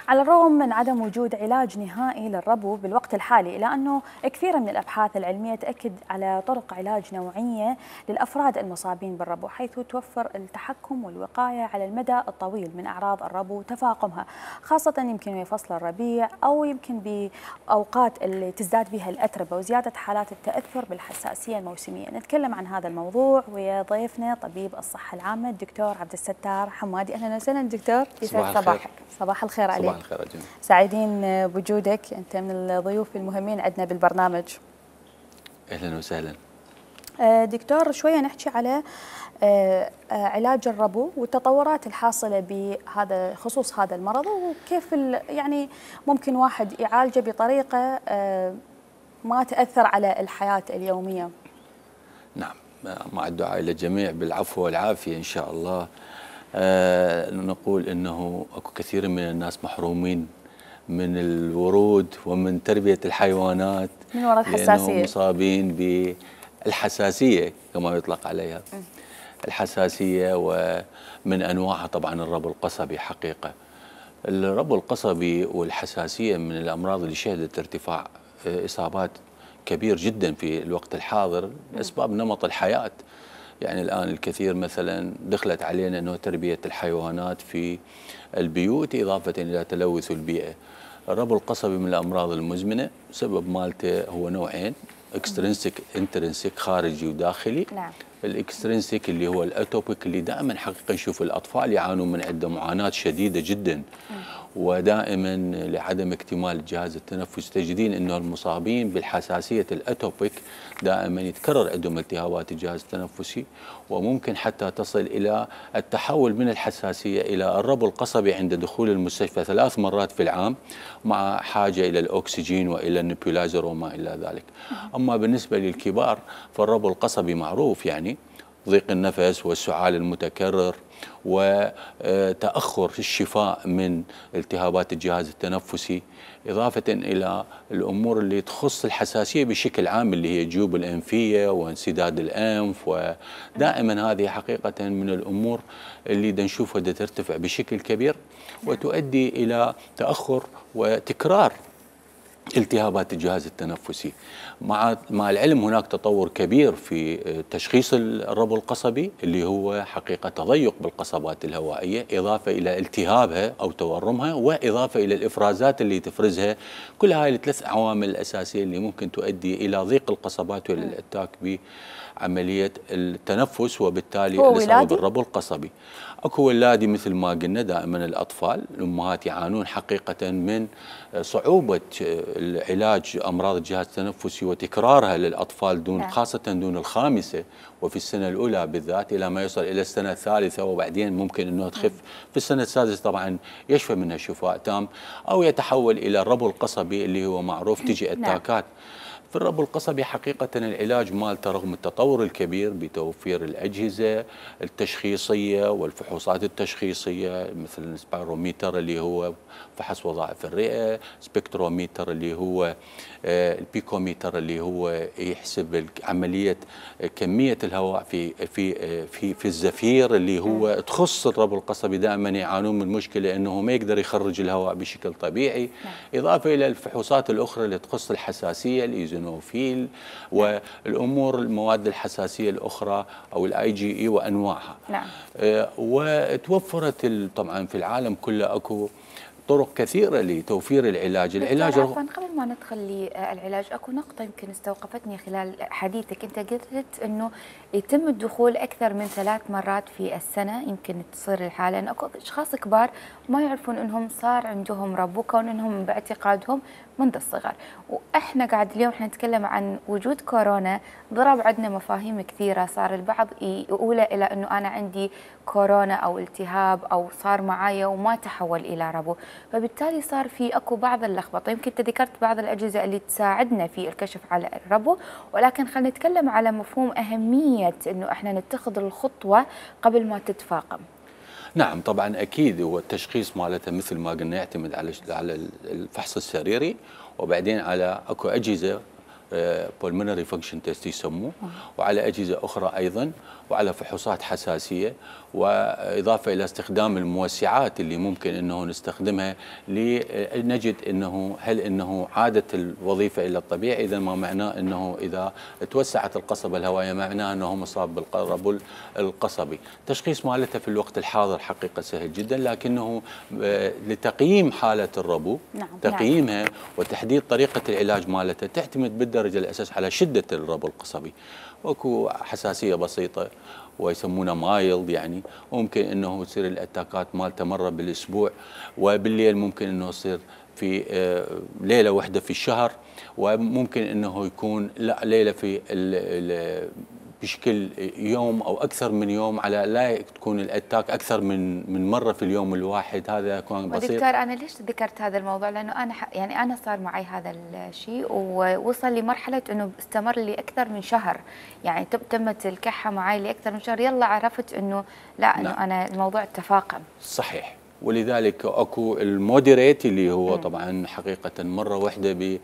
Speaker 2: على الرغم من عدم وجود علاج نهائي للربو بالوقت الحالي، إلا أنه كثير من الأبحاث العلمية تأكد على طرق علاج نوعية للأفراد المصابين بالربو، حيث توفر التحكم والوقاية على المدى الطويل من أعراض الربو وتفاقمها، خاصة يمكن في فصل الربيع أو يمكن بأوقات اللي تزداد بها الأتربة وزيادة حالات التأثر بالحساسية الموسمية. نتكلم عن هذا الموضوع ويا ضيفنا طبيب الصحة العامة الدكتور عبد الستار حمادي. أهلا وسهلا دكتور.
Speaker 12: يسعد صباحك.
Speaker 2: صباح الخير عليك.
Speaker 12: صباح الخير أجل.
Speaker 2: سعيدين بوجودك، أنت من الضيوف المهمين عندنا بالبرنامج.
Speaker 12: أهلا وسهلا.
Speaker 2: دكتور، شوية نحكي على علاج الربو والتطورات الحاصلة بهذا خصوص هذا المرض، وكيف يعني ممكن واحد يعالجه بطريقة ما تأثر على الحياة اليومية.
Speaker 12: نعم، مع الدعاء للجميع بالعفو والعافية إن شاء الله. نقول أنه أكو كثير من الناس محرومين من الورود ومن تربية الحيوانات
Speaker 2: من وراء الحساسية،
Speaker 12: لأنهم مصابين بالحساسية كما يطلق عليها. الحساسية ومن أنواعها طبعا الربو القصبي. حقيقة الربو القصبي والحساسية من الأمراض اللي شهدت ارتفاع إصابات كبير جدا في الوقت الحاضر لأسباب نمط الحياة. يعني الآن الكثير مثلا دخلت علينا أنه تربية الحيوانات في البيوت إضافة إلى تلوث البيئة. الربو القصبي من الأمراض المزمنة، سبب مالته هو نوعين، اكسترنسيك انترنسيك خارجي وداخلي.
Speaker 1: نعم.
Speaker 12: الاكسترنسيك اللي هو الاتوبيك اللي دائما حقيقة نشوف الأطفال يعانون من عنده معاناة شديدة جدا، ودائما لعدم اكتمال الجهاز التنفسي تجدين انه المصابين بالحساسيه الاتوبيك دائما يتكرر عندهم التهابات الجهاز التنفسي، وممكن حتى تصل الى التحول من الحساسيه الى الربو القصبي عند دخول المستشفى 3 مرات في العام، مع حاجه الى الاكسجين والى النبيولايزر وما الى ذلك. اما بالنسبه للكبار فالربو القصبي معروف، يعني ضيق النفس والسعال المتكرر وتأخر الشفاء من التهابات الجهاز التنفسي، إضافة إلى الأمور اللي تخص الحساسية بشكل عام اللي هي الجيوب الأنفية وانسداد الأنف. ودائما هذه حقيقة من الأمور اللي نشوفها ترتفع بشكل كبير وتؤدي إلى تأخر وتكرار التهابات الجهاز التنفسي. مع العلم هناك تطور كبير في تشخيص الربو القصبي اللي هو حقيقة تضيق بالقصبات الهوائية، إضافة إلى التهابها أو تورمها، وإضافة إلى الإفرازات اللي تفرزها. كل هاي الثلاث عوامل الأساسية اللي ممكن تؤدي إلى ضيق القصبات والاتاك بعملية التنفس، وبالتالي الإصابة بالربو القصبي. أكو ولادي مثل ما قلنا، دائما الأطفال الأمهات يعانون حقيقة من صعوبة العلاج امراض الجهاز التنفسي وتكرارها للاطفال دون خاصه دون الخامسه وفي السنه الاولى بالذات الى ما يصل الى السنه الثالثه، وبعدين ممكن انه تخف في السنه السادسه طبعا يشفى منها شفاء تام، او يتحول الى الربو القصبي اللي هو معروف تجي اتاكات. في الربو القصبي حقيقة العلاج مالته رغم التطور الكبير بتوفير الأجهزة التشخيصية والفحوصات التشخيصية مثل السبيروميتر اللي هو فحص وظائف الرئة، سبكتروميتر اللي هو البيكوميتر اللي هو يحسب عملية كمية الهواء في الزفير اللي هو تخص الربو القصبي دائما يعانون من مشكلة أنه ما يقدر يخرج الهواء بشكل طبيعي، إضافة إلى الفحوصات الأخرى اللي تخص الحساسية الإيزونوفيل والأمور المواد الحساسية الأخرى أو الIgE وأنواعها.
Speaker 1: نعم.
Speaker 12: وتوفرت طبعا في العالم كله أكو طرق كثيرة لتوفير العلاج.
Speaker 1: العلاج عفوا قبل ما ندخل للعلاج اكو نقطة يمكن استوقفتني خلال حديثك، انت قلت انه يتم الدخول اكثر من 3 مرات في السنة يمكن تصير الحالة، لان اكو اشخاص كبار ما يعرفون انهم صار عندهم ربو كون انهم باعتقادهم منذ الصغر، واحنا قاعد اليوم احنا نتكلم عن وجود كورونا ضرب عندنا مفاهيم كثيرة، صار البعض يقول الى انه انا عندي كورونا او التهاب او صار معايا وما تحول الى ربو، فبالتالي صار في اكو بعض اللخبطه. يمكن انت ذكرت بعض الاجهزه اللي تساعدنا في الكشف على الربو، ولكن خلينا نتكلم على مفهوم اهميه انه احنا نتخذ الخطوه قبل ما تتفاقم.
Speaker 12: نعم طبعا اكيد، هو التشخيص مالته مثل ما قلنا يعتمد على الفحص السريري، وبعدين على اكو اجهزه pulmonary function test يسموه، وعلى اجهزه اخرى ايضا، وعلى فحوصات حساسيه، واضافه الى استخدام الموسعات اللي ممكن انه نستخدمها لنجد انه هل انه عادت الوظيفه الى الطبيعي، اذا ما معناه انه اذا توسعت القصبه الهوائيه معناه انه مصاب بالربو القصبي. التشخيص مالته في الوقت الحاضر حقيقه سهل جدا، لكنه لتقييم حاله الربو تقييمها وتحديد طريقه العلاج مالته تعتمد بالدرجه الاساس على شده الربو القصبي. واكو حساسيه بسيطه ويسمونها مايلد يعني، وممكن انه تصير الاتاكات مالته مره بالاسبوع، وبالليل ممكن انه يصير في ليله واحده في الشهر، وممكن انه يكون لا ليله في بشكل يوم او اكثر من يوم، على لا تكون الاتاك اكثر من مره في اليوم الواحد. هذا كان بسيط.
Speaker 1: دكتور انا ليش ذكرت هذا الموضوع؟ لانه انا يعني انا صار معي هذا الشيء ووصل لمرحله انه استمر لي اكثر من شهر، يعني تمت الكحه معي لاكثر من شهر، يلا عرفت انه لا انه انا الموضوع تفاقم.
Speaker 12: صحيح، ولذلك اكو المودريت اللي هو طبعا حقيقه مره واحده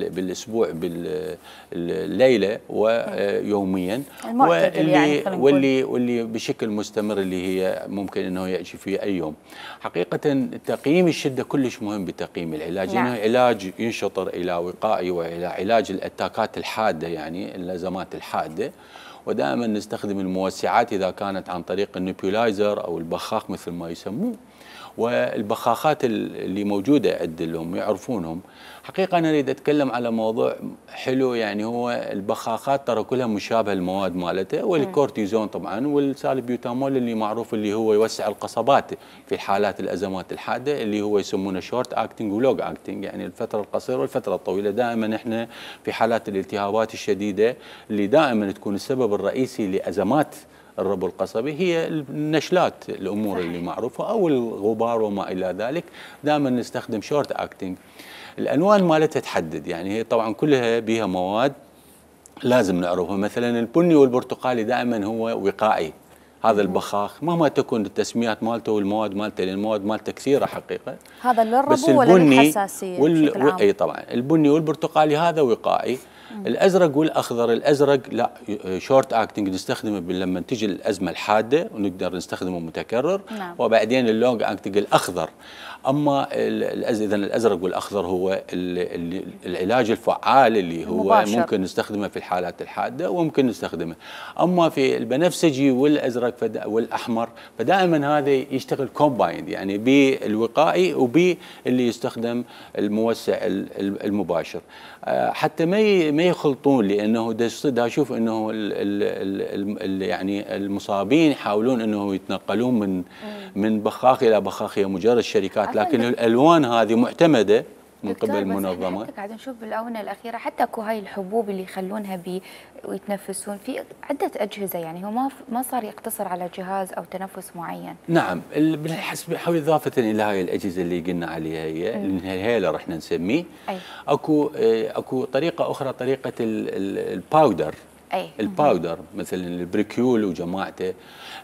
Speaker 12: بالاسبوع بالليله ويوميا، واللي بشكل مستمر اللي هي ممكن انه ياتي في اي يوم. حقيقه تقييم الشده كلش مهم بتقييم العلاج، لانه علاج ينشطر الى وقائي والى علاج الاتاكات الحاده يعني الازمات الحاده، ودائما نستخدم الموسعات اذا كانت عن طريق النيبولايزر او البخاخ مثل ما يسموه، والبخاخات اللي موجوده عند اللي يعرفونهم. حقيقه انا اريد اتكلم على موضوع حلو، يعني هو البخاخات ترى كلها مشابهه المواد مالته، والكورتيزون طبعا والسالبيوتامول اللي معروف اللي هو يوسع القصبات في حالات الازمات الحاده، اللي هو يسمونه شورت اكتنج ولونج اكتنج، يعني الفتره القصيره والفتره الطويله. دائما احنا في حالات الالتهابات الشديده اللي دائما تكون السبب الرئيسي لازمات الربو القصبي هي النشلات، الامور اللي معروفه او الغبار وما الى ذلك، دائما نستخدم شورت اكتنج. الالوان مالتها تحدد، يعني هي طبعا كلها بها مواد لازم نعرفها، مثلا البني والبرتقالي دائما هو وقائي، هذا البخاخ مهما تكون التسميات مالته والمواد مالته، لان المواد مالته كثيره حقيقه.
Speaker 2: هذا للربو ولا للحساسيه بشكل عام؟
Speaker 12: اي طبعا البني والبرتقالي هذا وقائي. الازرق والاخضر، الازرق لا شورت اكتنج نستخدمه لما تجي الازمه الحاده ونقدر نستخدمه متكرر. وبعدين اللونج اكتنج الاخضر. اما اذا الازرق والاخضر هو العلاج الفعال اللي هو مباشر. ممكن نستخدمه في الحالات الحاده وممكن نستخدمه. اما في البنفسجي والازرق والاحمر فدائما هذا يشتغل كومبايند، يعني بالوقائي وباللي يستخدم الموسع المباشر، حتى ما يخلطون، لانه دا اشوف انه يعني المصابين يحاولون انه يتنقلون من بخاخ الى بخاخ، هي مجرد شركات، لكن الالوان هذه معتمده من قبل المنظمه.
Speaker 1: حتى قاعد نشوف بالاونه الاخيره حتى اكو هاي الحبوب اللي يخلونها ويتنفسون في عده اجهزه، يعني هو ما صار يقتصر على جهاز او تنفس معين.
Speaker 12: نعم، بالحسب اضافه الى هاي الاجهزه اللي قلنا عليها هي الانهيلر احنا نسميه. اكو طريقه اخرى، طريقه الباودر. الباودر مثلا البريكيول وجماعته،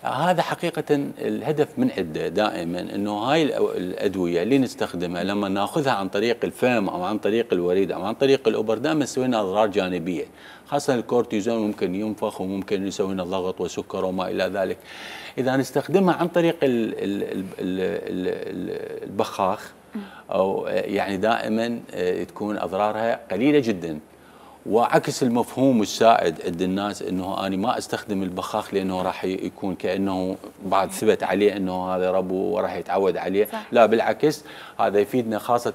Speaker 12: هذا حقيقة الهدف من عنده دائما انه هاي الادوية اللي نستخدمها لما ناخذها عن طريق الفم او عن طريق الوريد او عن طريق الابر دائما تسوي لنا اضرار جانبية، خاصة الكورتيزون ممكن ينفخ وممكن يسوي لنا ضغط وسكر وما الى ذلك. اذا نستخدمها عن طريق البخاخ او يعني دائما تكون اضرارها قليلة جدا. وعكس المفهوم السائد عند الناس انه انا ما استخدم البخاخ لانه راح يكون كانه بعد ثبت عليه انه هذا ربو وراح يتعود عليه. صح. لا بالعكس، هذا يفيدنا خاصه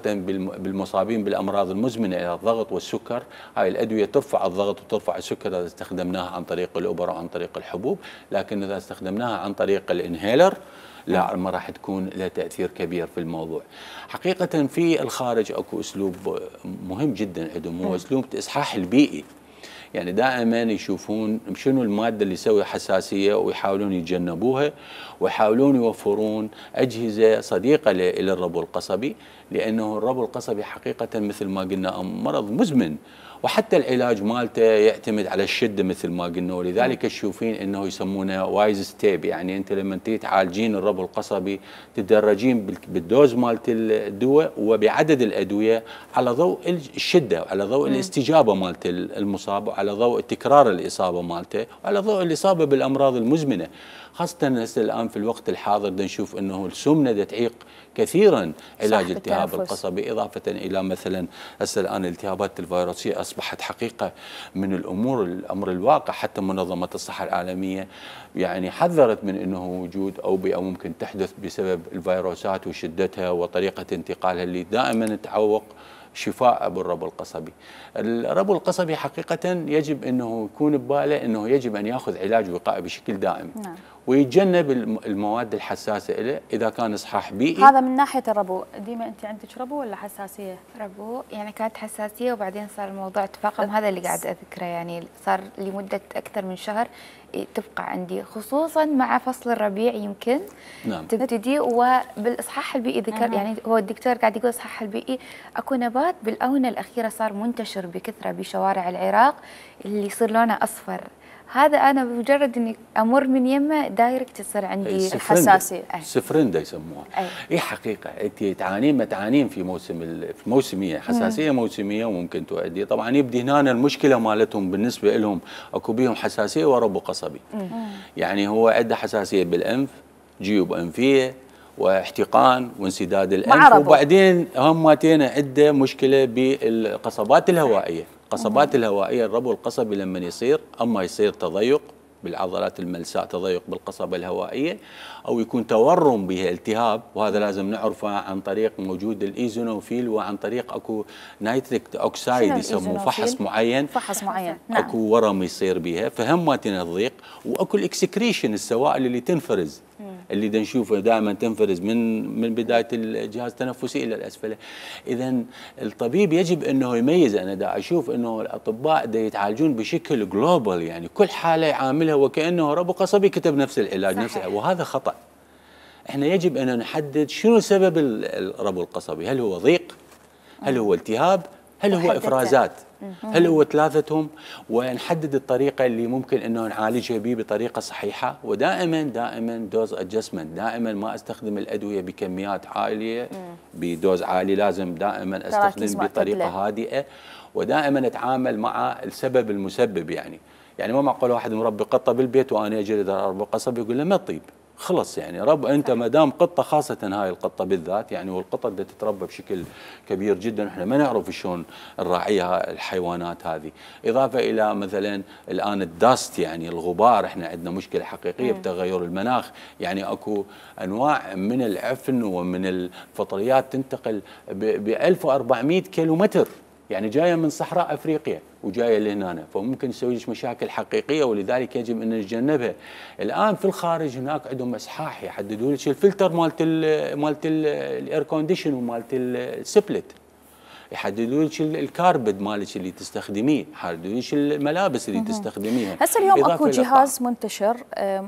Speaker 12: بالمصابين بالامراض المزمنه الى الضغط والسكر. هاي الادويه ترفع الضغط وترفع السكر اذا استخدمناها عن طريق الابر او عن طريق الحبوب، لكن اذا استخدمناها عن طريق الانهيلر لا، ما راح تكون لها تأثير كبير في الموضوع. حقيقة في الخارج اكو اسلوب مهم جدا عندهم، هو اسلوب الاصحاح البيئي. يعني دائما يشوفون شنو المادة اللي تسوي حساسية ويحاولون يتجنبوها، ويحاولون يوفرون أجهزة صديقة إلى الربو القصبي، لأنه الربو القصبي حقيقة مثل ما قلنا مرض مزمن، وحتى العلاج مالته يعتمد على الشده مثل ما قلنا، ولذلك تشوفين انه يسمونه وايز ستيب. يعني انت لما تعالجين الربو القصبي تدرجين بالدوز مالت الدواء وبعدد الادويه على ضوء الشده، على ضوء الاستجابه مالت المصاب، وعلى ضوء تكرار الاصابه مالته، وعلى ضوء الاصابه بالامراض المزمنه. خاصه هسه الان في الوقت الحاضر نشوف انه السمنه تعيق كثيرا علاج الالتهاب القصبي، اضافه الى مثلا هسه الان الالتهابات الفيروسيه اصبحت حقيقه من الامر الواقع. حتى منظمه الصحه العالميه يعني حذرت من انه وجود اوبئه ممكن تحدث بسبب الفيروسات وشدتها وطريقه انتقالها اللي دائما تعوق شفاء بالربو القصبي. الربو القصبي حقيقة يجب أنه يكون بباله أنه يجب أن يأخذ علاج وقائي بشكل دائم. نعم. ويتجنب المواد الحساسة له إذا كان إصحاح بيئي.
Speaker 2: هذا من ناحية الربو. ديما أنت عندك ربو ولا حساسية؟
Speaker 1: ربو، يعني كانت حساسية وبعدين صار الموضوع تفاقم، هذا اللي قاعد أذكره، يعني صار لمدة أكثر من شهر تبقى عندي، خصوصا مع فصل الربيع يمكن. نعم. تبتدي. وبالإصحاح البيئي ذكر يعني هو الدكتور قاعد يقول الإصحاح البيئي اكو نبات بالآونة الأخيرة صار منتشر بكثرة بشوارع العراق اللي يصير لونه أصفر. هذا انا بمجرد اني امر من يمه دايركت تصير عندي
Speaker 2: الحساسيه.
Speaker 12: سفرندا يسموها. اي حقيقه انت تعانين في موسميه، حساسيه موسميه، وممكن تؤدي طبعا يبدي هنا المشكله مالتهم بالنسبه لهم اكو بيهم حساسيه وربو قصبي. يعني هو عنده حساسيه بالانف، جيوب انفيه واحتقان وانسداد الانف، وبعدين همتين عنده مشكله بالقصبات الهوائيه. القصبات الهوائيه الربو القصبي لما يصير تضيق بالعضلات الملساء، تضيق بالقصبة الهوائية، أو يكون تورم بها التهاب، وهذا لازم نعرفه عن طريق موجود الإيزونوفيل وعن طريق أكو نيتريك أوكسايد يسموه فحص معين.
Speaker 2: نعم.
Speaker 12: أكو ورم يصير بها، فهم تضيق، وأكو الإكسكريشن السوائل اللي تنفرز اللي نشوفه دائما تنفرز من بدايه الجهاز التنفسي الى الاسفل. اذا الطبيب يجب انه يميز. انا دا اشوف انه الاطباء دا يتعالجون بشكل جلوبال، يعني كل حاله يعاملها وكانه ربو قصبي كتب نفس العلاج نفسه، وهذا خطا. احنا يجب ان نحدد شنو سبب الربو القصبي، هل هو ضيق؟ هل هو التهاب؟ هل هو افرازات؟ هل هو ثلاثتهم؟ ونحدد الطريقه اللي ممكن انه نعالجها به بطريقه صحيحه. ودائما دوز ادجستمنت، دائما ما استخدم الادويه بكميات عاليه بدوز عالي، لازم دائما استخدم بطريقه هادئه، ودائما اتعامل مع السبب المسبب. يعني ما معقول واحد مربي قطه بالبيت وانا اجي ربو قصبي يقول له ما تطيب، خلص. يعني انت ما دام قطه، خاصه هاي القطه بالذات، يعني والقطط بدها تتربى بشكل كبير جدا، احنا ما نعرف شلون نراعيها الحيوانات هذه. اضافه الى مثلا الان الداست، يعني الغبار، احنا عندنا مشكله حقيقيه بتغير المناخ. يعني اكو انواع من العفن ومن الفطريات تنتقل ب 1400 كيلومتر، يعني جايه من صحراء افريقيا وجايه لهنا، فممكن تسوي لك مشاكل حقيقيه، ولذلك يجب ان نتجنبها. الان في الخارج هناك عندهم اصحاح يحددوا لك الفلتر مالت الاير كونديشن ومالت السبلت. يحددوا لك الكاربد مالك اللي تستخدميه، يحددوا لك الملابس اللي تستخدميها.
Speaker 2: هسه اليوم اكو جهاز منتشر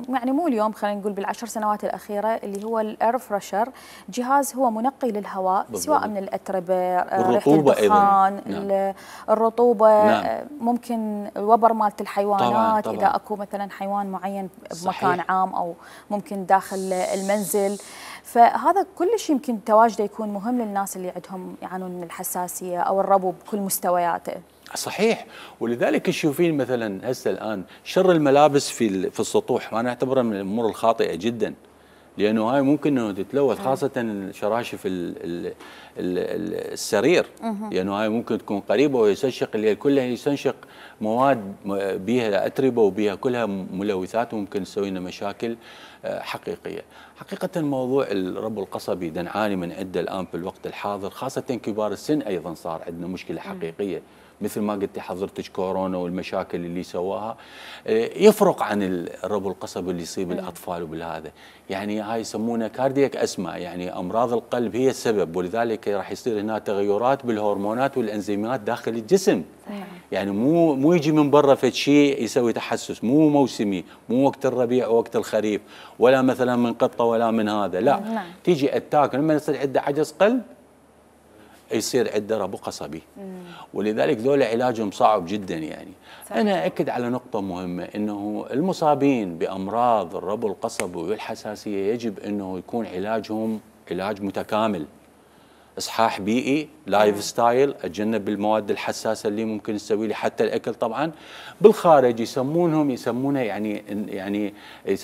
Speaker 2: يعني مو اليوم، خلينا نقول بال10 سنوات الاخيره، اللي هو الاير فريشر. جهاز هو منقي للهواء بالضبط. سواء من الاتربه، ريحه الدخان، نعم. الرطوبه، نعم. ممكن الوبر مالت الحيوانات طبعاً. اذا اكو مثلا حيوان معين بمكان عام او ممكن داخل المنزل، فهذا كل شيء يمكن تواجده يكون مهم للناس اللي عندهم يعانون من الحساسيه او الربو بكل مستوياته.
Speaker 12: صحيح، ولذلك تشوفين مثلا هسه الان شر الملابس في السطوح، وانا اعتبرها من الامور الخاطئه جدا، لانه هاي ممكن انه تتلوث، خاصه شراشف السرير، لانه هاي ممكن تكون قريبه ويستنشق الليل كلها، يستنشق مواد بها اتربه وبها كلها ملوثات وممكن تسوي لنا مشاكل حقيقيه. حقيقه موضوع الربو القصبي نعاني من عده الان في الوقت الحاضر، خاصه كبار السن ايضا صار عندنا مشكله حقيقيه. مثل ما قلتي حضرتك كورونا والمشاكل اللي سواها يفرق عن الربو القصبي اللي يصيب الاطفال وبالهذا، يعني هاي يسمونها كاردياك اسما، يعني امراض القلب هي السبب، ولذلك راح يصير هنا تغيرات بالهرمونات والانزيمات داخل الجسم. يعني مو يجي من برا فد شيء يسوي تحسس، مو موسمي، مو وقت الربيع او وقت الخريف، ولا مثلا من قطه ولا من هذا، لا تيجي اتاك لما يصير عنده عجز قلب يصير عنده ربو قصبي. ولذلك ذولا علاجهم صعب جدا. يعني انا اكد على نقطه مهمه، انه المصابين بامراض الربو القصبي والحساسيه يجب انه يكون علاجهم علاج متكامل، اصحاح بيئي، لايف ستايل، اتجنب المواد الحساسه اللي ممكن تسوي لي حتى الاكل. طبعا بالخارج يسمونها يعني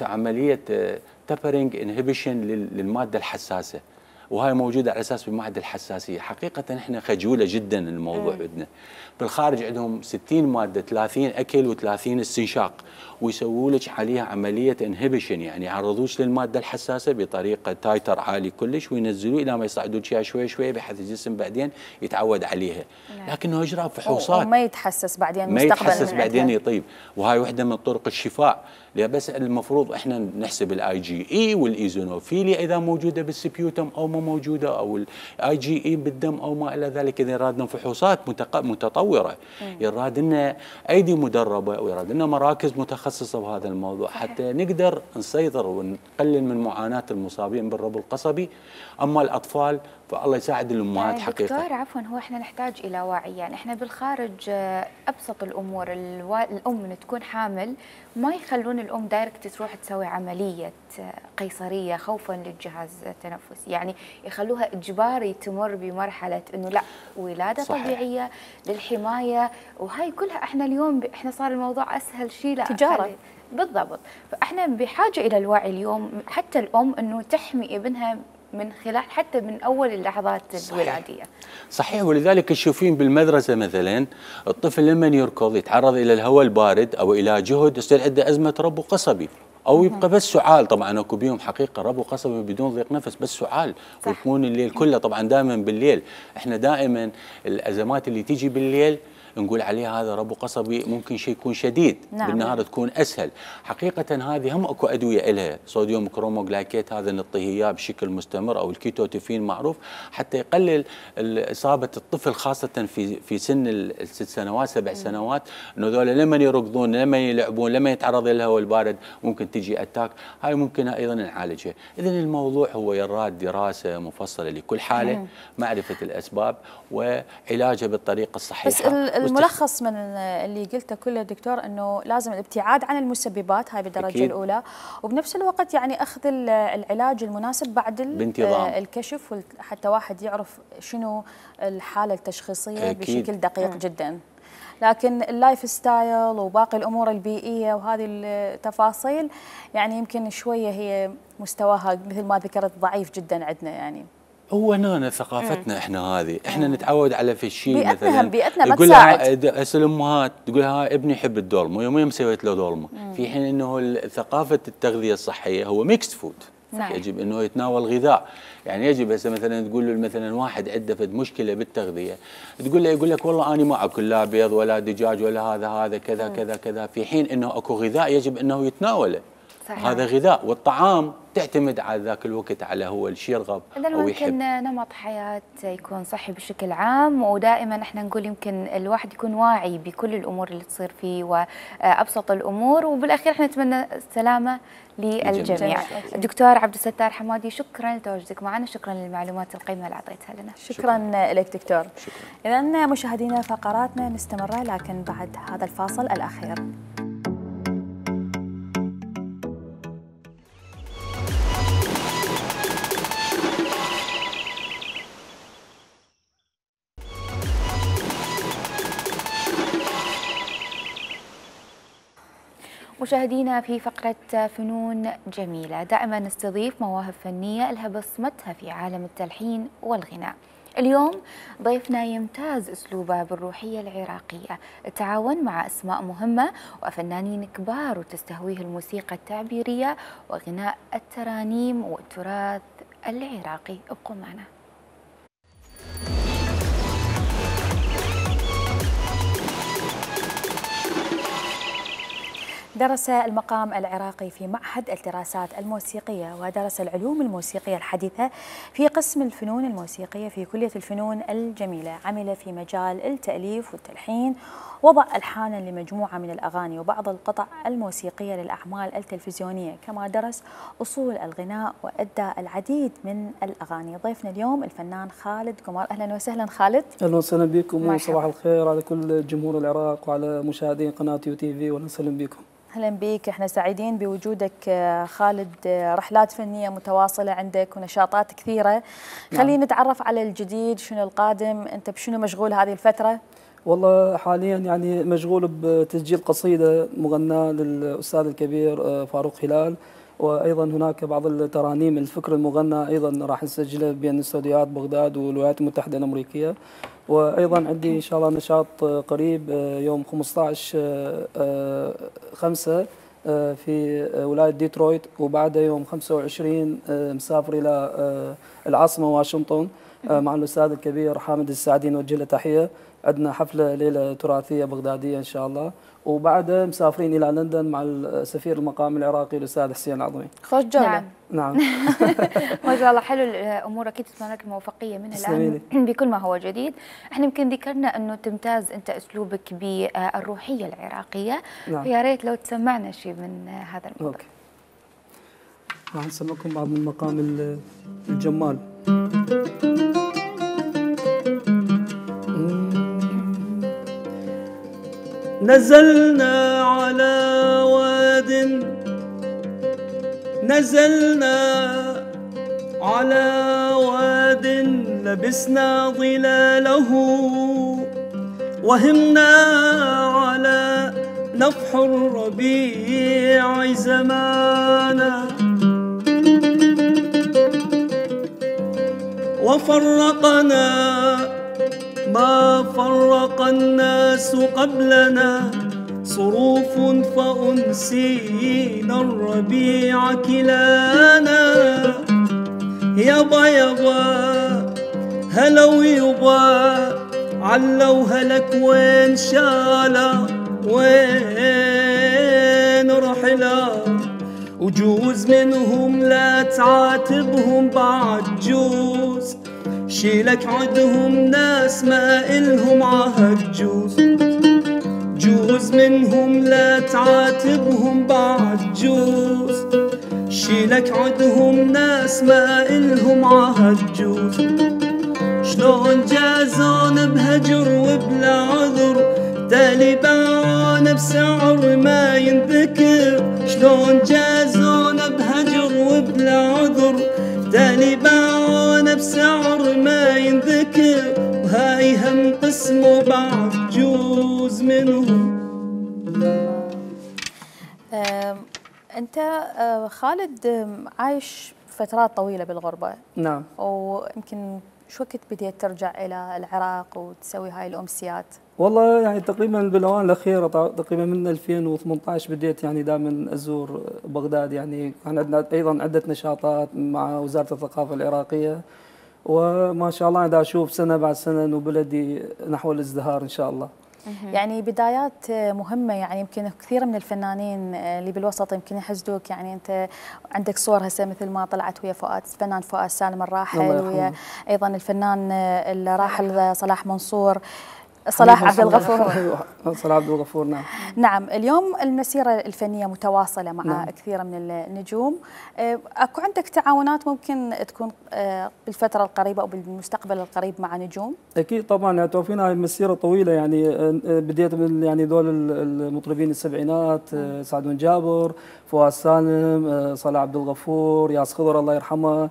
Speaker 12: عمليه تبرنج انهبيشن للماده الحساسه، وهاي موجوده على اساس بمعدل الحساسيه. حقيقه احنا خجوله جدا الموضوع عندنا. بالخارج عندهم 60 ماده، 30 اكل و30 استنشاق، ويسووا لك عليها عمليه انهبيشن، يعني يعرضوش للماده الحساسه بطريقه تايتر عالي كلش، وينزلوا الى ما يصعدوا شوي شوي شوي بحيث الجسم بعدين يتعود عليها. لكنه اجرى فحوصات
Speaker 2: وما يتحسس بعدين
Speaker 12: مستقبلا، ما يتحسس بعدين يطيب، وهاي وحده من طرق الشفاء. بس المفروض احنا نحسب الاي جي اي والايزونوفيليا اذا موجوده بالسبيوتم او ما موجوده، او الاي جي اي بالدم او ما الى ذلك. اذا يرادنا فحوصات متطوره، يراد لنا ايدي مدربه، ويراد لنا مراكز متخصصه بهذا الموضوع حتى نقدر نسيطر ونقلل من معاناه المصابين بالربو القصبي. اما الاطفال فالله يساعد الامهات حقيقه.
Speaker 1: دكتور عفوا، هو احنا نحتاج الى وعي. يعني احنا بالخارج ابسط الامور الام من تكون حامل ما يخلون الام دايركت تروح تسوي عمليه قيصريه خوفا للجهاز التنفسي، يعني يخلوها اجباري تمر بمرحله انه لا ولاده صحيح. طبيعيه للحمايه، وهاي كلها احنا اليوم احنا صار الموضوع اسهل شيء، لا
Speaker 2: تجاره
Speaker 1: بالضبط. فاحنا بحاجه الى الوعي اليوم، حتى الام انه تحمي ابنها من خلال حتى من اول اللحظات الولاديه.
Speaker 12: صحيح، ولذلك تشوفين بالمدرسه مثلا الطفل لما يركض يتعرض الى الهواء البارد او الى جهد يصير عنده ازمه ربو قصبي، او يبقى بس سعال. طبعا اكو بيهم حقيقه ربو قصبي بدون ضيق نفس، بس سعال ويكون الليل كله. طبعا دائما بالليل احنا دائما الازمات اللي تيجي بالليل نقول عليها هذا ربو قصبي، ممكن شيء يكون شديد، بالنهار تكون اسهل. حقيقه هذه هم اكو ادويه لها، صوديوم كروموغلايكيت هذا نعطيه اياه بشكل مستمر، او الكيتوتيفين معروف، حتى يقلل اصابه الطفل خاصه في سن ال6 سنوات 7 سنوات، انه ذولا لما يركضون لما يلعبون لما يتعرض للهواء البارد ممكن تجي اتاك. هاي ممكن ايضا نعالجها. اذا الموضوع هو يراد دراسه مفصله لكل حاله، معرفه الاسباب وعلاجها بالطريقه الصحيحه.
Speaker 2: بس الملخص من اللي قلته كله دكتور انه لازم الابتعاد عن المسببات هاي بالدرجه أكيد. الاولى، وبنفس الوقت يعني اخذ العلاج المناسب بعد الكشف، حتى واحد يعرف شنو الحاله التشخيصيه أكيد. بشكل دقيق جدا. لكن اللايف ستايل وباقي الامور البيئيه وهذه التفاصيل يعني يمكن شويه هي مستواها مثل ما ذكرت ضعيف جدا عندنا. يعني
Speaker 12: هو هنا ثقافتنا احنا هذه، احنا نتعود على في الشيء مثلا
Speaker 2: بيئتنا ما تساعد.
Speaker 12: هسه الامهات تقول ها ابني يحب الدولمه، يومين سويت له دولمه، في حين انه ثقافه التغذيه الصحيه هو ميكست فود. يجب انه يتناول غذاء، يعني يجب هسه مثلا تقول له مثلا واحد عنده مشكله بالتغذيه، تقول له يقول لك والله انا ما اكل لا بيض ولا دجاج ولا هذا كذا كذا كذا، في حين انه اكو غذاء يجب انه يتناوله.
Speaker 1: صحيح.
Speaker 12: هذا غذاء، والطعام تعتمد على ذاك الوقت على هو الشيء يرغب
Speaker 1: أو يحب. يمكن نمط حياة يكون صحي بشكل عام، ودائما احنا نقول يمكن الواحد يكون واعي بكل الأمور اللي تصير فيه وأبسط الأمور، وبالأخير احنا نتمنى السلامة للجميع. الدكتور عبد الستار حمادي، شكرا لتواجدك معنا، شكرا للمعلومات القيمة اللي أعطيتها لنا.
Speaker 2: شكرا لك دكتور. إذا مشاهدينا فقراتنا مستمرة، لكن بعد هذا الفاصل الأخير.
Speaker 1: مشاهدينا في فقرة فنون جميلة، دائما نستضيف مواهب فنية لها بصمتها في عالم التلحين والغناء. اليوم ضيفنا يمتاز أسلوبه بالروحية العراقية، التعاون مع أسماء مهمة وفنانين كبار، وتستهويه الموسيقى التعبيرية وغناء الترانيم والتراث العراقي. ابقوا معنا.
Speaker 2: درس المقام العراقي في معهد الدراسات الموسيقية، ودرس العلوم الموسيقية الحديثة في قسم الفنون الموسيقية في كلية الفنون الجميلة. عمل في مجال التأليف والتلحين، وضع ألحانا لمجموعة من الأغاني وبعض القطع الموسيقية للأعمال التلفزيونية، كما درس أصول الغناء وأدى العديد من الأغاني. ضيفنا اليوم الفنان خالد قمر. أهلا وسهلا خالد.
Speaker 13: أهلا وسهلا بكم، وصباح الخير على كل جمهور العراق وعلى مشاهدين قناة يو تي في. وأهلا وسهلا بكم.
Speaker 2: أهلا بك، احنا سعيدين بوجودك خالد. رحلات فنية متواصلة عندك ونشاطات كثيرة. خلينا نتعرف على الجديد، شنو القادم؟ أنت بشنو مشغول هذه الفترة؟
Speaker 13: والله حاليا يعني مشغول بتسجيل قصيدة مغناة للأستاذ الكبير فاروق هلال، وأيضا هناك بعض الترانيم الفكر المغنى أيضا راح نسجلها بين استوديوهات بغداد والولايات المتحدة الأمريكية. وأيضا عندي إن شاء الله نشاط قريب يوم 15/5 في ولاية ديترويت، وبعدها يوم 25 مسافر إلى العاصمة واشنطن مع الأستاذ الكبير حامد السعدي، نوجه له تحية. عندنا حفلة ليلة تراثية بغدادية إن شاء الله، وبعدها مسافرين إلى لندن مع السفير المقام العراقي الأستاذ حسين العظمي.
Speaker 2: خوش جولة.
Speaker 13: نعم.
Speaker 1: ما شاء الله، حلو الأمور. أكيد تتمنى لك الموفقية من الآن بكل ما هو جديد. احنا يمكن ذكرنا أنه تمتاز أنت أسلوبك بالروحية العراقية، نعم. فيا ريت لو تسمعنا شيء من هذا الموضوع.
Speaker 13: راح نسمعكم بعض من مقام الجمال. نزلنا على واد، نزلنا على واد لبسنا ظلاله، وهمنا على نفح الربيع زمانا، وفرقنا ما فرق الناس قبلنا، صروف فأنسينا الربيع كلانا. يابا يابا هلو يابا علو هلك وين شالا، وين رحلا، وجوز منهم لا تعاتبهم بعد جوز، شيلك عدهم ناس ما إلهم عهد جوز، جوز منهم لا تعاتبهم بعد جوز، شيلك عدهم ناس ما إلهم عهد جوز. شلون جازون بهجر وبلا عذر، تالي باعون بسعر ما ينذكر، شلون جازون بهجر وبلا عذر، تالي باعون بسعر ما ينذكر، وهاي هم قسمه بعد جوز منهم.
Speaker 2: أنت خالد عايش فترات طويلة بالغربة.
Speaker 13: نعم.
Speaker 2: ويمكن شو وقت بديت ترجع إلى العراق وتسوي هاي الأمسيات؟
Speaker 13: والله يعني تقريبا بالآونة الأخيرة، تقريبا من 2018 بديت يعني دائما أزور بغداد. يعني كان عندنا أيضا عدة نشاطات مع وزارة الثقافة العراقية، وما شاء الله دا أشوف سنة بعد سنة إنه بلدي نحو الازدهار إن شاء الله.
Speaker 2: يعني بدايات مهمة، يعني يمكن كثير من الفنانين اللي بالوسط يمكن يحسدوك، يعني أنت عندك صور هسه مثل ما طلعت ويا الفنان فؤاد سالم الراحل، ويا أيضا الفنان الراحل صلاح منصور، صلاح عبد الغفور.
Speaker 13: صلاح عبد الغفور، نعم.
Speaker 2: نعم، اليوم المسيرة الفنية متواصلة مع نعم. كثير من النجوم. اكو عندك تعاونات ممكن تكون بالفترة القريبة أو بالمستقبل القريب مع نجوم؟
Speaker 13: أكيد طبعا، يعني توفينا هاي مسيرة طويلة، يعني بديت من يعني دول المطربين السبعينات، سعد بن جابر، فؤاد سالم، صلاح عبد الغفور، ياس خضر الله يرحمه،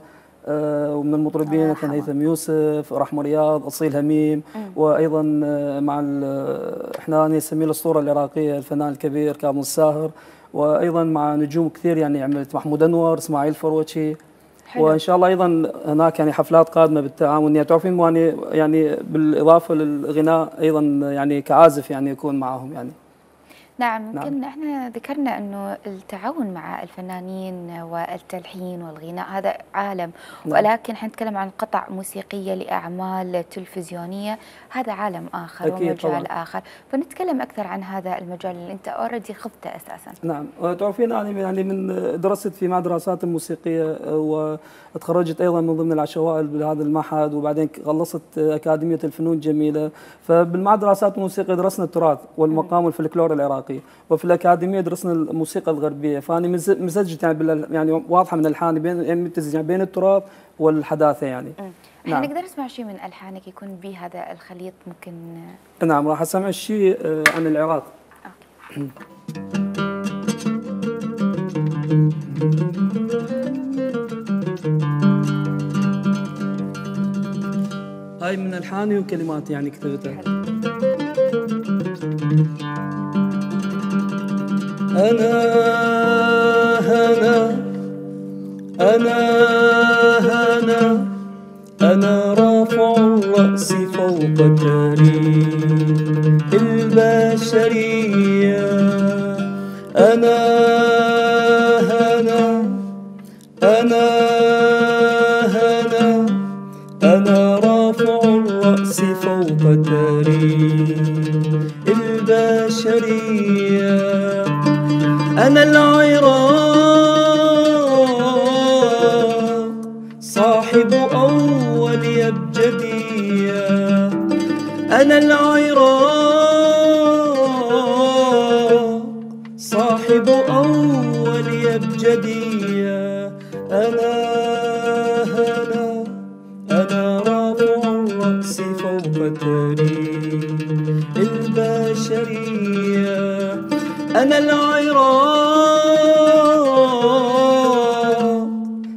Speaker 13: ومن المطربين مثل هيثم يوسف، رحمة رياض، أصيل هميم، وايضا مع احنا نسميه الاسطوره العراقيه الفنان الكبير كامل الساهر، وايضا مع نجوم كثير يعني عملت محمود انور، اسماعيل فروتشي، وان شاء الله ايضا هناك يعني حفلات قادمه بالتعاون. يعني تعرفين يعني بالاضافه للغناء ايضا يعني كعازف يعني يكون معهم يعني.
Speaker 1: نعم، يمكن احنا ذكرنا انه التعاون مع الفنانين والتلحين والغناء هذا عالم، ولكن حنتكلم عن قطع موسيقيه لاعمال تلفزيونيه، هذا عالم اخر ومجال طبعاً. اخر، فنتكلم اكثر عن هذا المجال اللي انت اوريدي خضته اساسا.
Speaker 13: نعم، تعرفين انا يعني من درست في دراسات الموسيقيه، وتخرجت ايضا من ضمن العشوائي بهذا المعهد، وبعدين خلصت اكاديميه الفنون الجميله، فبالمعهد دراسات الموسيقى درسنا التراث والمقام والفلكلور العراقي، وفي الاكاديميه درسنا الموسيقى الغربيه، فاني مزجت يعني واضحه من الحاني بين بين التراث والحداثه يعني.
Speaker 1: احنا نقدر نسمع شيء من الحانك يكون به هذا الخليط ممكن؟
Speaker 13: نعم، راح اسمع شيء عن العراق. هاي من الحاني وكلمات يعني كتبتها. أنا رافع الرأس فوق تاريخ البشرية، أنا رافع الرأس فوق تاريخ البشرية، أنا العراق صاحب أول أبجدية، أنا العراق صاحب أول أبجدية، أنا رافع الرأس فوق تاريخ البشرية، أنا العراق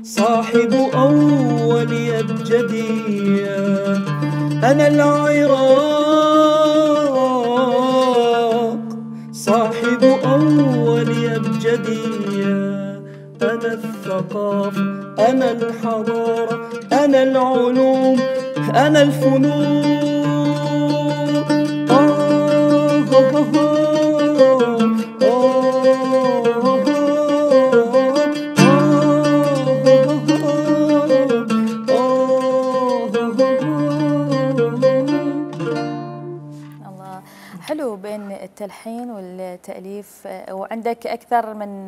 Speaker 13: صاحب أول أبجدية، أنا العراق صاحب أول أبجدية، أنا الثقافة، أنا الحضارة، أنا العلوم، أنا الفنون.
Speaker 2: حلو بين التلحين والتأليف، وعندك أكثر من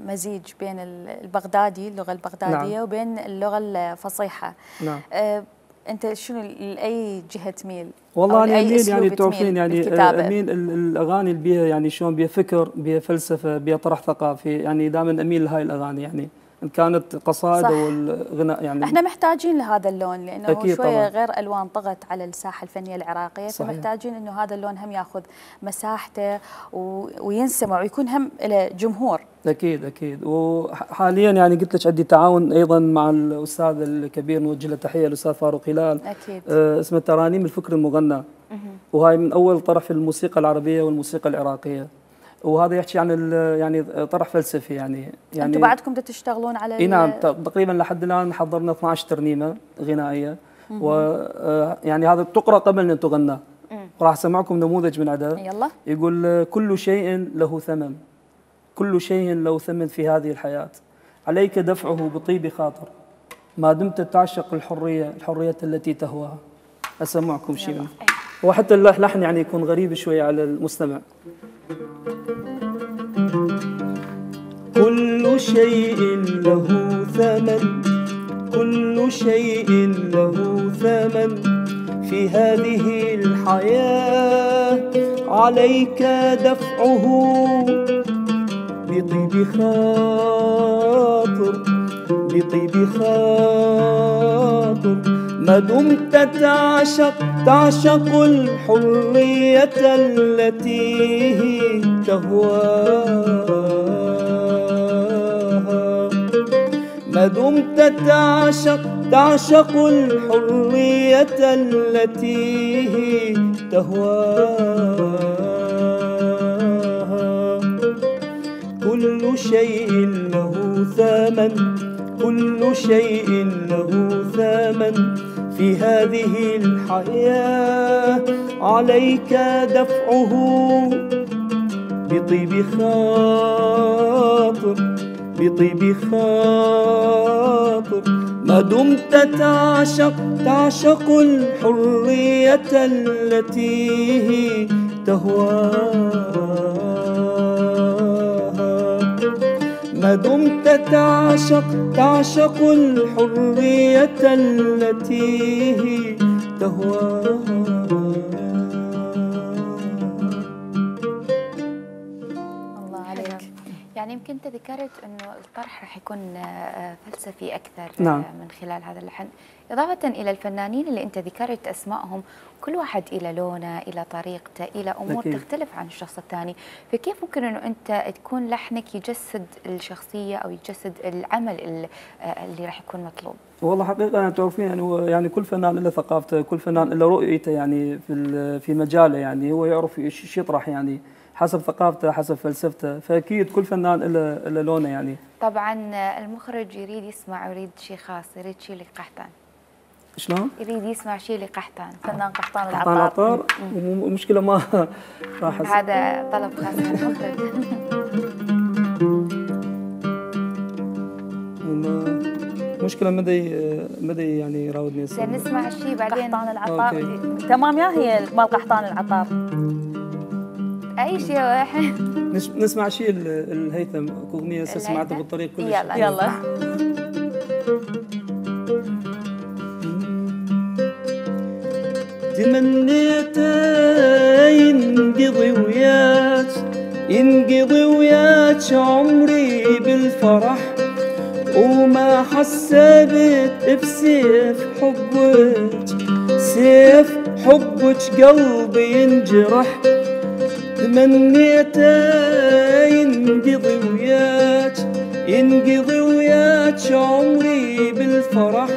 Speaker 2: مزيج بين البغدادي، اللغة البغدادية، نعم. وبين اللغة الفصيحة.
Speaker 13: نعم.
Speaker 2: أنت شنو لأي جهة تميل؟
Speaker 13: والله أنا أميل يعني تعرفين يعني أميل الأغاني اللي بيها يعني شلون بيها فكر، بيها فلسفة، بيها طرح ثقافي، يعني دائما أميل لهاي الأغاني يعني إن كانت قصائد أو الغناء يعني.
Speaker 2: احنا محتاجين لهذا اللون لأنه هو شوية غير ألوان طغت على الساحة الفنية العراقية، صحيح. فمحتاجين إنه هذا اللون هم ياخذ مساحته وينسمع ويكون هم له جمهور.
Speaker 13: أكيد أكيد. وحاليا يعني قلت لك عندي تعاون أيضا مع الأستاذ الكبير، نوجه له تحية الأستاذ فاروق هلال.
Speaker 2: أكيد.
Speaker 13: اسمه ترانيم الفكر المغنى. وهاي من أول طرح في الموسيقى العربية والموسيقى العراقية. وهذا يحكي عن يعني طرح فلسفي يعني
Speaker 2: انتم بعدكم تشتغلون على
Speaker 13: نعم، تقريبا لحد الان حضرنا 12 ترنيمه غنائيه، ويعني هذا تقرا قبل ان تغنى. راح اسمعكم نموذج من عدد.
Speaker 2: يلا.
Speaker 13: يقول: كل شيء له ثمن، كل شيء له ثمن في هذه الحياه، عليك دفعه بطيب خاطر ما دمت تعشق الحريه التي تهواها. اسمعكم شيء منه. وحتى اللحن يعني يكون غريب شوي على المستمع. كل شيء له ثمن، كل شيء له ثمن في هذه الحياة، عليك دفعه بطيب خاطر، بطيب خاطر، ما دمت تعشق الحرية التي تهواها، ما دمت تعشق الحرية التي تهواها. كل شيء له ثمن، كل شيء له ثمن في هذه الحياة، عليك دفعه بطيب خاطر، بطيب خاطر، ما دمت تعشق الحرية التي تهواها، ما دمت تعشق الحرية التي تهواها.
Speaker 1: الله عليك. يعني يمكن انت ذكرت انه الطرح راح يكون فلسفي اكثر
Speaker 13: نعم.
Speaker 1: من خلال هذا اللحن، اضافه الى الفنانين اللي انت ذكرت اسمائهم، كل واحد الى لونه، الى طريقته، الى امور
Speaker 13: أكيد.
Speaker 1: تختلف عن الشخص الثاني، فكيف ممكن انه انت تكون لحنك يجسد الشخصيه او يجسد العمل اللي راح يكون مطلوب؟
Speaker 13: والله حقيقة أنا تعرفين يعني هو يعني كل فنان له ثقافته، كل فنان له رؤيته يعني في مجاله، يعني هو يعرف ايش يطرح يعني حسب ثقافته حسب فلسفته، فأكيد كل فنان له لونه يعني.
Speaker 1: طبعا المخرج يريد يسمع، يريد شيء خاص، يريد شيء لقحطان.
Speaker 13: شلون؟
Speaker 1: يريد يسمع شيء لقحطان،
Speaker 2: فنان قحطان
Speaker 13: قحطان العطار. ومشكلة ما راح
Speaker 1: هذا طلب خاص من المخرج.
Speaker 13: مشكلة مدى يعني يراودني
Speaker 1: نسمع الشيء بعدين.
Speaker 2: قحطان العطار. تمام يا هي مال قحطان العطار.
Speaker 1: اي شيء واحد.
Speaker 13: نسمع شيء الهيثم، اغنية سمعتها بالطريق كل
Speaker 1: يلا
Speaker 13: شيء.
Speaker 2: يلا.
Speaker 13: تمنيت ينقضي وياك عمري بالفرح، وما حسبت بسيف حبك، سيف حبك قلبي ينجرح. تمنيت ينقضي وياك عمري بالفرح،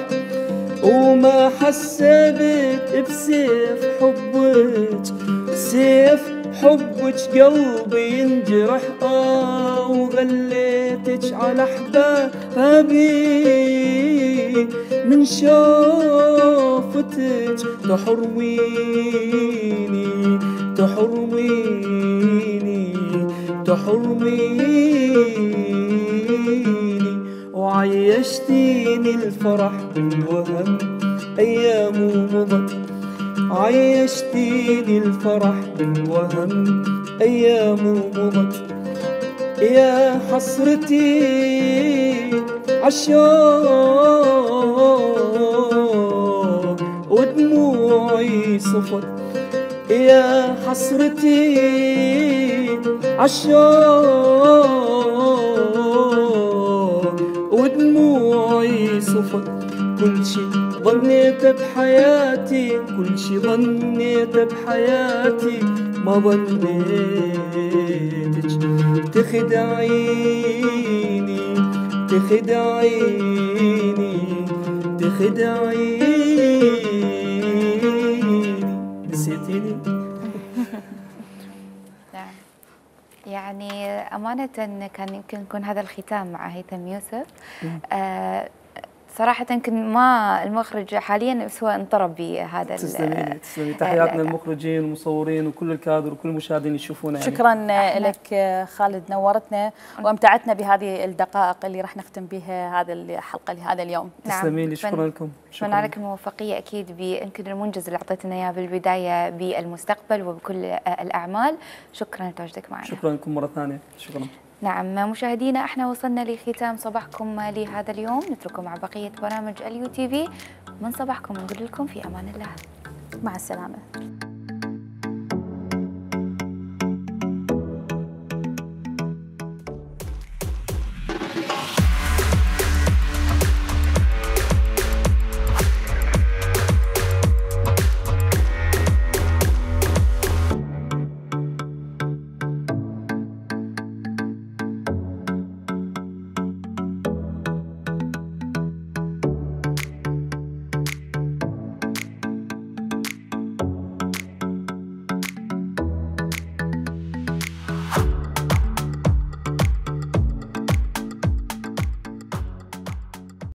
Speaker 13: وما حسبت بسيف حبك، سيف حبك قلبي ينجرح. وغليتك على احبابي، من شوفتك تحرميني تحرميني تحرميني، وعيشتيني الفرح بالوهم أيام مضت، عيشتيني الفرح بالوهم أيام مضت. يا حسرتي عالشوق ودموعي صفت، يا حسرتي عالشوق ودموعي صفت. كل شي ظنيت بحياتي، كل شي ظنيت بحياتي، ما ظنيتك تخدعيني تخدعيني تخدعيني. نسيتيني؟
Speaker 1: نعم. يعني أمانة كان يمكن يكون هذا الختام مع هيثم يوسف. صراحة يمكن ما المخرج حاليا بس هو انطرب بهذا.
Speaker 13: تسلمي تحياتنا للمخرجين والمصورين وكل الكادر وكل المشاهدين يشوفونا. يعني.
Speaker 2: شكرا لك خالد، نورتنا وامتعتنا بهذه الدقائق اللي راح نختم بها هذه الحلقة لهذا اليوم.
Speaker 13: تسلمي لي، شكرا لكم.
Speaker 1: شكرا لك الموفقية أكيد يمكن المنجز اللي أعطيتنا إياه بالبداية بالمستقبل وبكل الأعمال. شكرا لتواجدك معنا.
Speaker 13: شكرا لكم مرة ثانية. شكرا.
Speaker 1: نعم مشاهدينا، احنا وصلنا لختام صباحكم لهذا اليوم، نترككم مع بقية برامج اليو تي في. من صباحكم نقول لكم في أمان الله،
Speaker 2: مع السلامة.